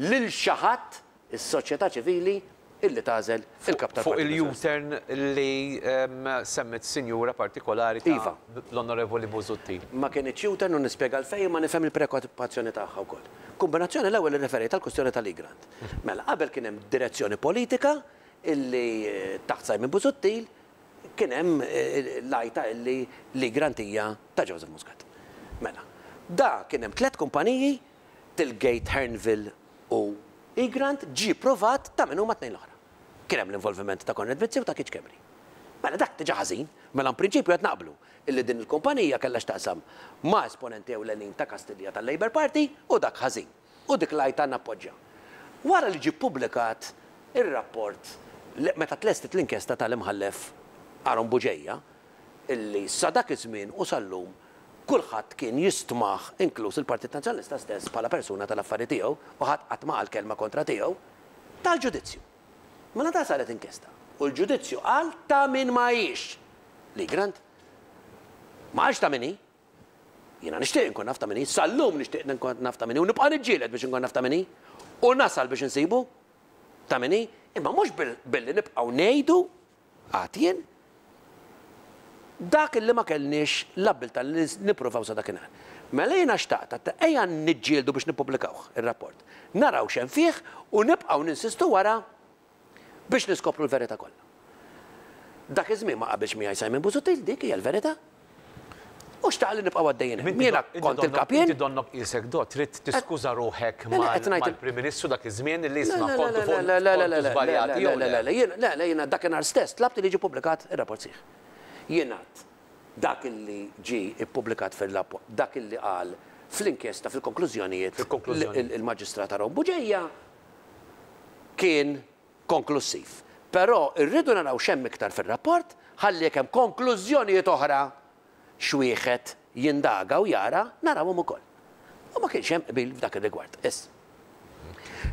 lil xi ħadd is-soċjetà ċivili illi tagħżel il-Kap Fuq tal-Partit Nazzjonalista. il-U-turn li semmiet sinjura partikolari ta' Iva. l-Onorevoli Busuttil. Ma kinitx U-turn u nispjega għalfejn imma nifhem il-preokkupazzjoni tagħha wkoll. Kombinazzjoni l-ewwel irreferejt għall-kwistjoni tal-Egrant. Mela qabel kien hemm direzzjoni politika illi taħt Simon Busuttil kien hemm l-għajta illi l-Egrant hija ta' Joseph Muscat. Mela, da kien hemm tlett kumpaniji Tilgate, Hearnville u Egrant ġie pprovat ta' min huma t-tnejn l-oħra. Kien hemm l-involviment ta' Konrad Mizzi u ta' Keith Schembri. Mela dak diġà ħażin. Mela in prinċipju qed naqblu illi din il-kumpanija kellha x'taqsam ma' esponenti ewlenin ta' Kastilja tal-Labour Party u dak ħażin. U dik l-għajta nappoġġja. Wara li ġie ppubblikat ir-rapport meta tlestiet l-inkjesta tal-Imħallef Aaron Bugeja, illi sa dak iż-żmien u sal-lum kulħadd kien jistmah inkluż il-Partit Nazzjonalista stess bħala persuna tal-affari tiegħu u ħadd qatt ma qal kelma kontra tiegħu, ta l-ġudizzju. Mela ta saret inkjesta u l-ġudizzju qal ta' min ma hix. Lee Grant. Ma qalx ta' min hi. Jiena nixtieq inkun naf ta' min hi, sal-lum nixtieq inkun naf ta' min hi u nibqa' niġġieled biex inkun naf ta' min hi u nasal biex insibu ta' min hi, imma mhux billi nibqgħu ngħidu Għad jien dak li ma kellniex l-abbiltà li nippruvaw sa dakinhar. Mela jiena xtaqt għedt ejja niġġieldu biex nippubblikawh ir-rapport. Naraw x'hemm fih u nibqgħu ninsistu wara biex niskopru l-verità kollha. Dak iż-żmien ma qabilx miegħi Simon Busuttil, dik hija l-verità. U xtaq li nibqgħu għaddejjin hemm. Jiena kont il-kap jien. Inti donnok qisek do trid tiskuża ruħek mal-Prim Ministru dak iż-żmien li isma' kontu fuq kontu żbaljati jew le. Le, le, le, le, jiena dakinhar stess tlabt li jiġi ppubblikat ir-rapport sħiħ. Jien għedt dak li ġie ppubblikat fir-rapport, dak li qal fl-inkjesta fil-konklużjonijiet il-Maġistrat Aaron Bugeja kien konklussiv. Però rridu naraw x'hemm iktar fir-rapport ħalli jekk hemm konklużjonijiet oħra x'wieħed jindaga u jara, narawhom ukoll. U ma kienx hemm qbil f'dak ir-rigward. Issa,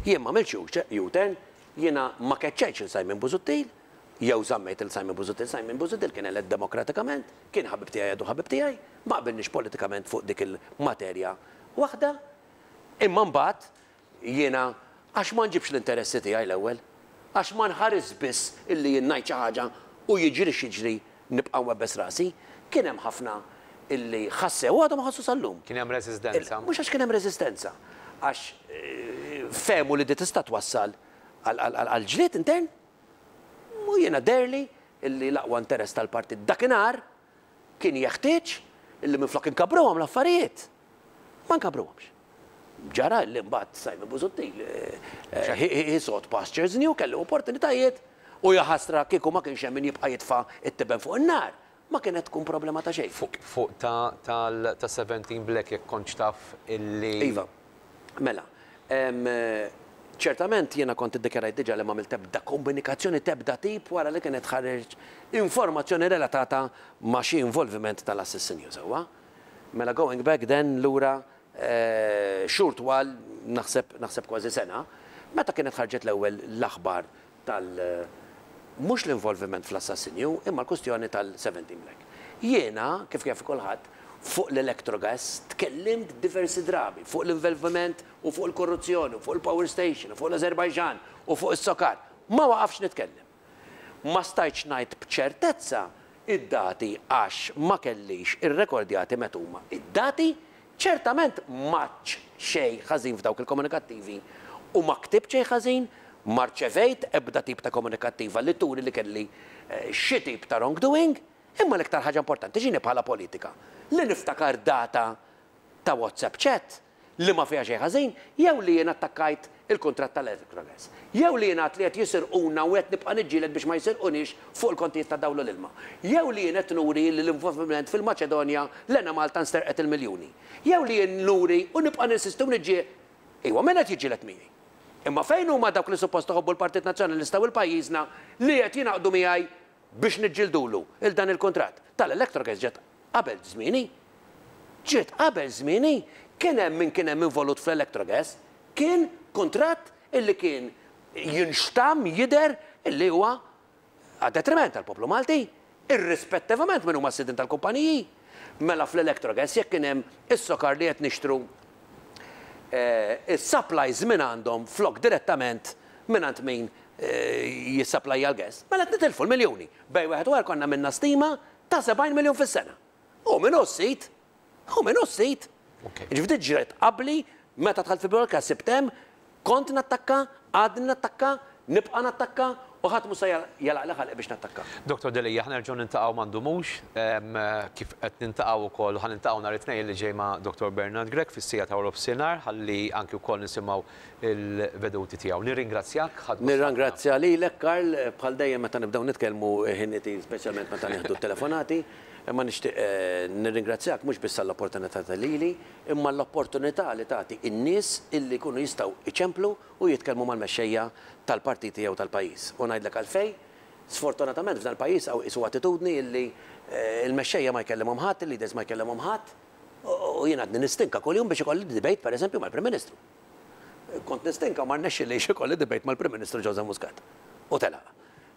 jien m'għamiltx U-turn, jiena ma keċċejtx lil Simon Busuttil, jew żammejt lil Simon Busuttil. Simon Busuttil kien elett demokratikament, kien ħabib tiegħi għadu ħabib tiegħi, ma qbilniex politikament fuq dik il-materja waħda, imma mbagħad Jiena għax ma nġibx l-interessi tiegħi l-ewwel? Għax ma nħarisx biss illi jien ngħid xi ħaġa u jiġri x'jiġri nibqa' nwebbes rasi? Kien hemm ħafna illi ħassew u għadhom iħossu sal-lum. Kien hemm reżistenza. Mhux għax kien hemm reżistenza, għax fehmu li di tista' twassal għal ġlied intern. U jiena deherli illi l-aqwa interess tal-partit dakinhar kien jeħtieġ illi minflok inkabbruhom l-affarijiet, ma nkabbruhomx. Ġara li mbagħad Simon Busuttil he sought pastures new, kellu opportunitajiet u jaħasra kieku ma kienx hemm min jibqa' jitfa' t-tiben fuq in-nar, ma kienet tkun problema ta' xejn. Fuq ta' ta' 17 Black jekk kontx taf illi. Iva. Mela. Ċertament jiena kont iddikjarajt diġà li m'għamilt ebda komunikazzjoni t'ebda tip wara li kienet ħareġ informazzjoni relatata ma' xi involviment tal-assassinju, sewwa? Mela going back then lura xhur twal, naħseb naħseb kważi sena, meta kienet ħarġet l-ewwel l-aħbar tal mhux l-involviment fl-assassinju imma l-kwistjoni tal-17 Black. Jiena, kif jaf kulħadd, fuq l-Electrogas tkellimt diversi drabi, fuq l-involviment u fuq il-korruzzjoni u fuq il-power station u fuq l-Azerbaijan u fuq is-Socar. Ma waqafx nitkellem. Ma stajtx ngħid b'ċertezza id-dati għax ma kellix irrekordjati meta huma id-dati. Ċertament m'għadtx xejn ħażin f'dawk il-komunikattivi u ma ktibt xejn ħażin, ma rċevejt ebda tip ta' komunikattiva li turi li kelli xi tip ta' wrongdoing, imma l-iktar ħaġa importanti x'inhi bħala politika? Li niftakar data ta' WhatsApp chat li ma fiha xejn ħażin, jew li jien attakkajt il-kuntratt tal-Electrogas, jew li jien għedt li qed jisirquna u qed nibqa' niġġieled biex ma jisirquniex fuq il-kontijiet tad-dawl u l-ilma, jew li jien qed nuri li l-involviment fil-Maċedonja l-Enemalta nsterqet il-miljuni, jew li jien nuri u nibqa' ninsisti u niġġie Iwa, min qed jiġġieled miegħi? Imma fejn huma dawk li suppost iħobbu l-Partit Nazzjonalista u 'l pajjiżna li qed jingħaqdu miegħi biex niġġieldulu 'l dan il-kuntratt tal-Electrogas ġiet qabel żmieni. Ġiet qabel żmieni. Kien hemm min kien hemm involut fl-Electrogas. Kien kuntratt illi kien jinxtamm, jidher illi huwa għad-detriment tal-poplu Malti, irrispettivament min huma s-sidien tal-kumpaniji. Mela fl-Electrogas jekk kien hemm is-sokar li qed nixtru is-supplies mingħandhom flok direttament mingħand min jissapplajja l-gas, mela qed nitilfu l-miljuni. Bejn wieħed u ieħor konna għamilna stima ta' 70 miljun fis-sena. Hu min hu s-sid? Hu min hu s-sid? Jiġifieri din ġret qabli meta dħalt fil-politika sibt hemm, kont nattakka, għadni nattakka, nibqa' nattakka u ħadd mhu se jagħlaqli ħalqi biex nattakka. Dottor Delia, ħa nerġgħu niltaqgħu ma ndumux, kif qed niltaqgħu wkoll u ħa niltaqgħu nhar it-Tnejn li ġej ma' Dottor Bernard Grech fis-siegħa ta' waranofsinhar ħalli anki wkoll nisimgħu l-veduti tiegħu. Nirringrazzjak, ħadt gost ħafna. Nirrangrazzja lilek Karl, bħal dejjem meta nibdew nitkellmu ħin itir speċjalment meta nieħdu t-telefonati, imma nixtieq nirringrazzjak mhux biss għall-opportunità ta' lili, imma l-opportunità li tagħti n-nies illi jkunu jistgħu iċemplu u jitkellmu mal-mexxejja tal-partiti jew tal-pajjiż. U ngħidlek għalfejn, sfortunatament f'dan il-pajjiż hawn qisu attitudni illi l-mexxejja ma jkellimhom ħadd, il-leaders ma jkellimhom ħadd, u jien għadni nistinka kuljum biex ikolli debate pereżempju mal-Prim Ministru. Kont nistinka u ma rnexxilix ikolli debate mal-Prim Ministru Joseph Muscat. U telaq.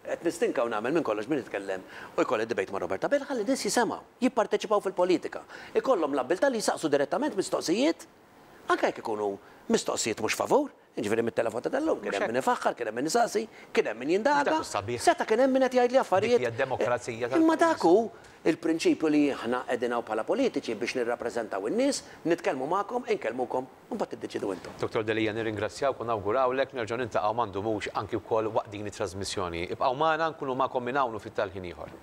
Qed nistinka u nagħmel minn kollox biex nitkellem u jkolli debate ma' Robert Abela ħalli n-nies jisemgħu, jipparteċipaw fil-politika, ikollhom l-abbiltà li jsaqsu direttament mistoqsijiet, anke jekk ikunu mistoqsijiet mhux favur. Jiġifieri mit-telefonata tal-lum kien hemm min ifaħħar, kien hemm min isaqsi, kien hemm min jindaga, seta' kien hemm min qed jgħidli affarijiet. Imma dak hu l-prinċipju li aħna qegħdin hawn bħala politiċi biex nirrappreżentaw in-nies, nitkellmu magħkom, inkellmukom. U mbagħad tiddeċiedu intom. Dottor Delia nirringrazzjawk u nawgurawlek nerġgħu niltaqgħu ma ndumux anki wkoll waqt din it-trażmissjoni. Ibqgħu magħna nkunu magħkom minn hawn u fit-tal-ħin ieħor.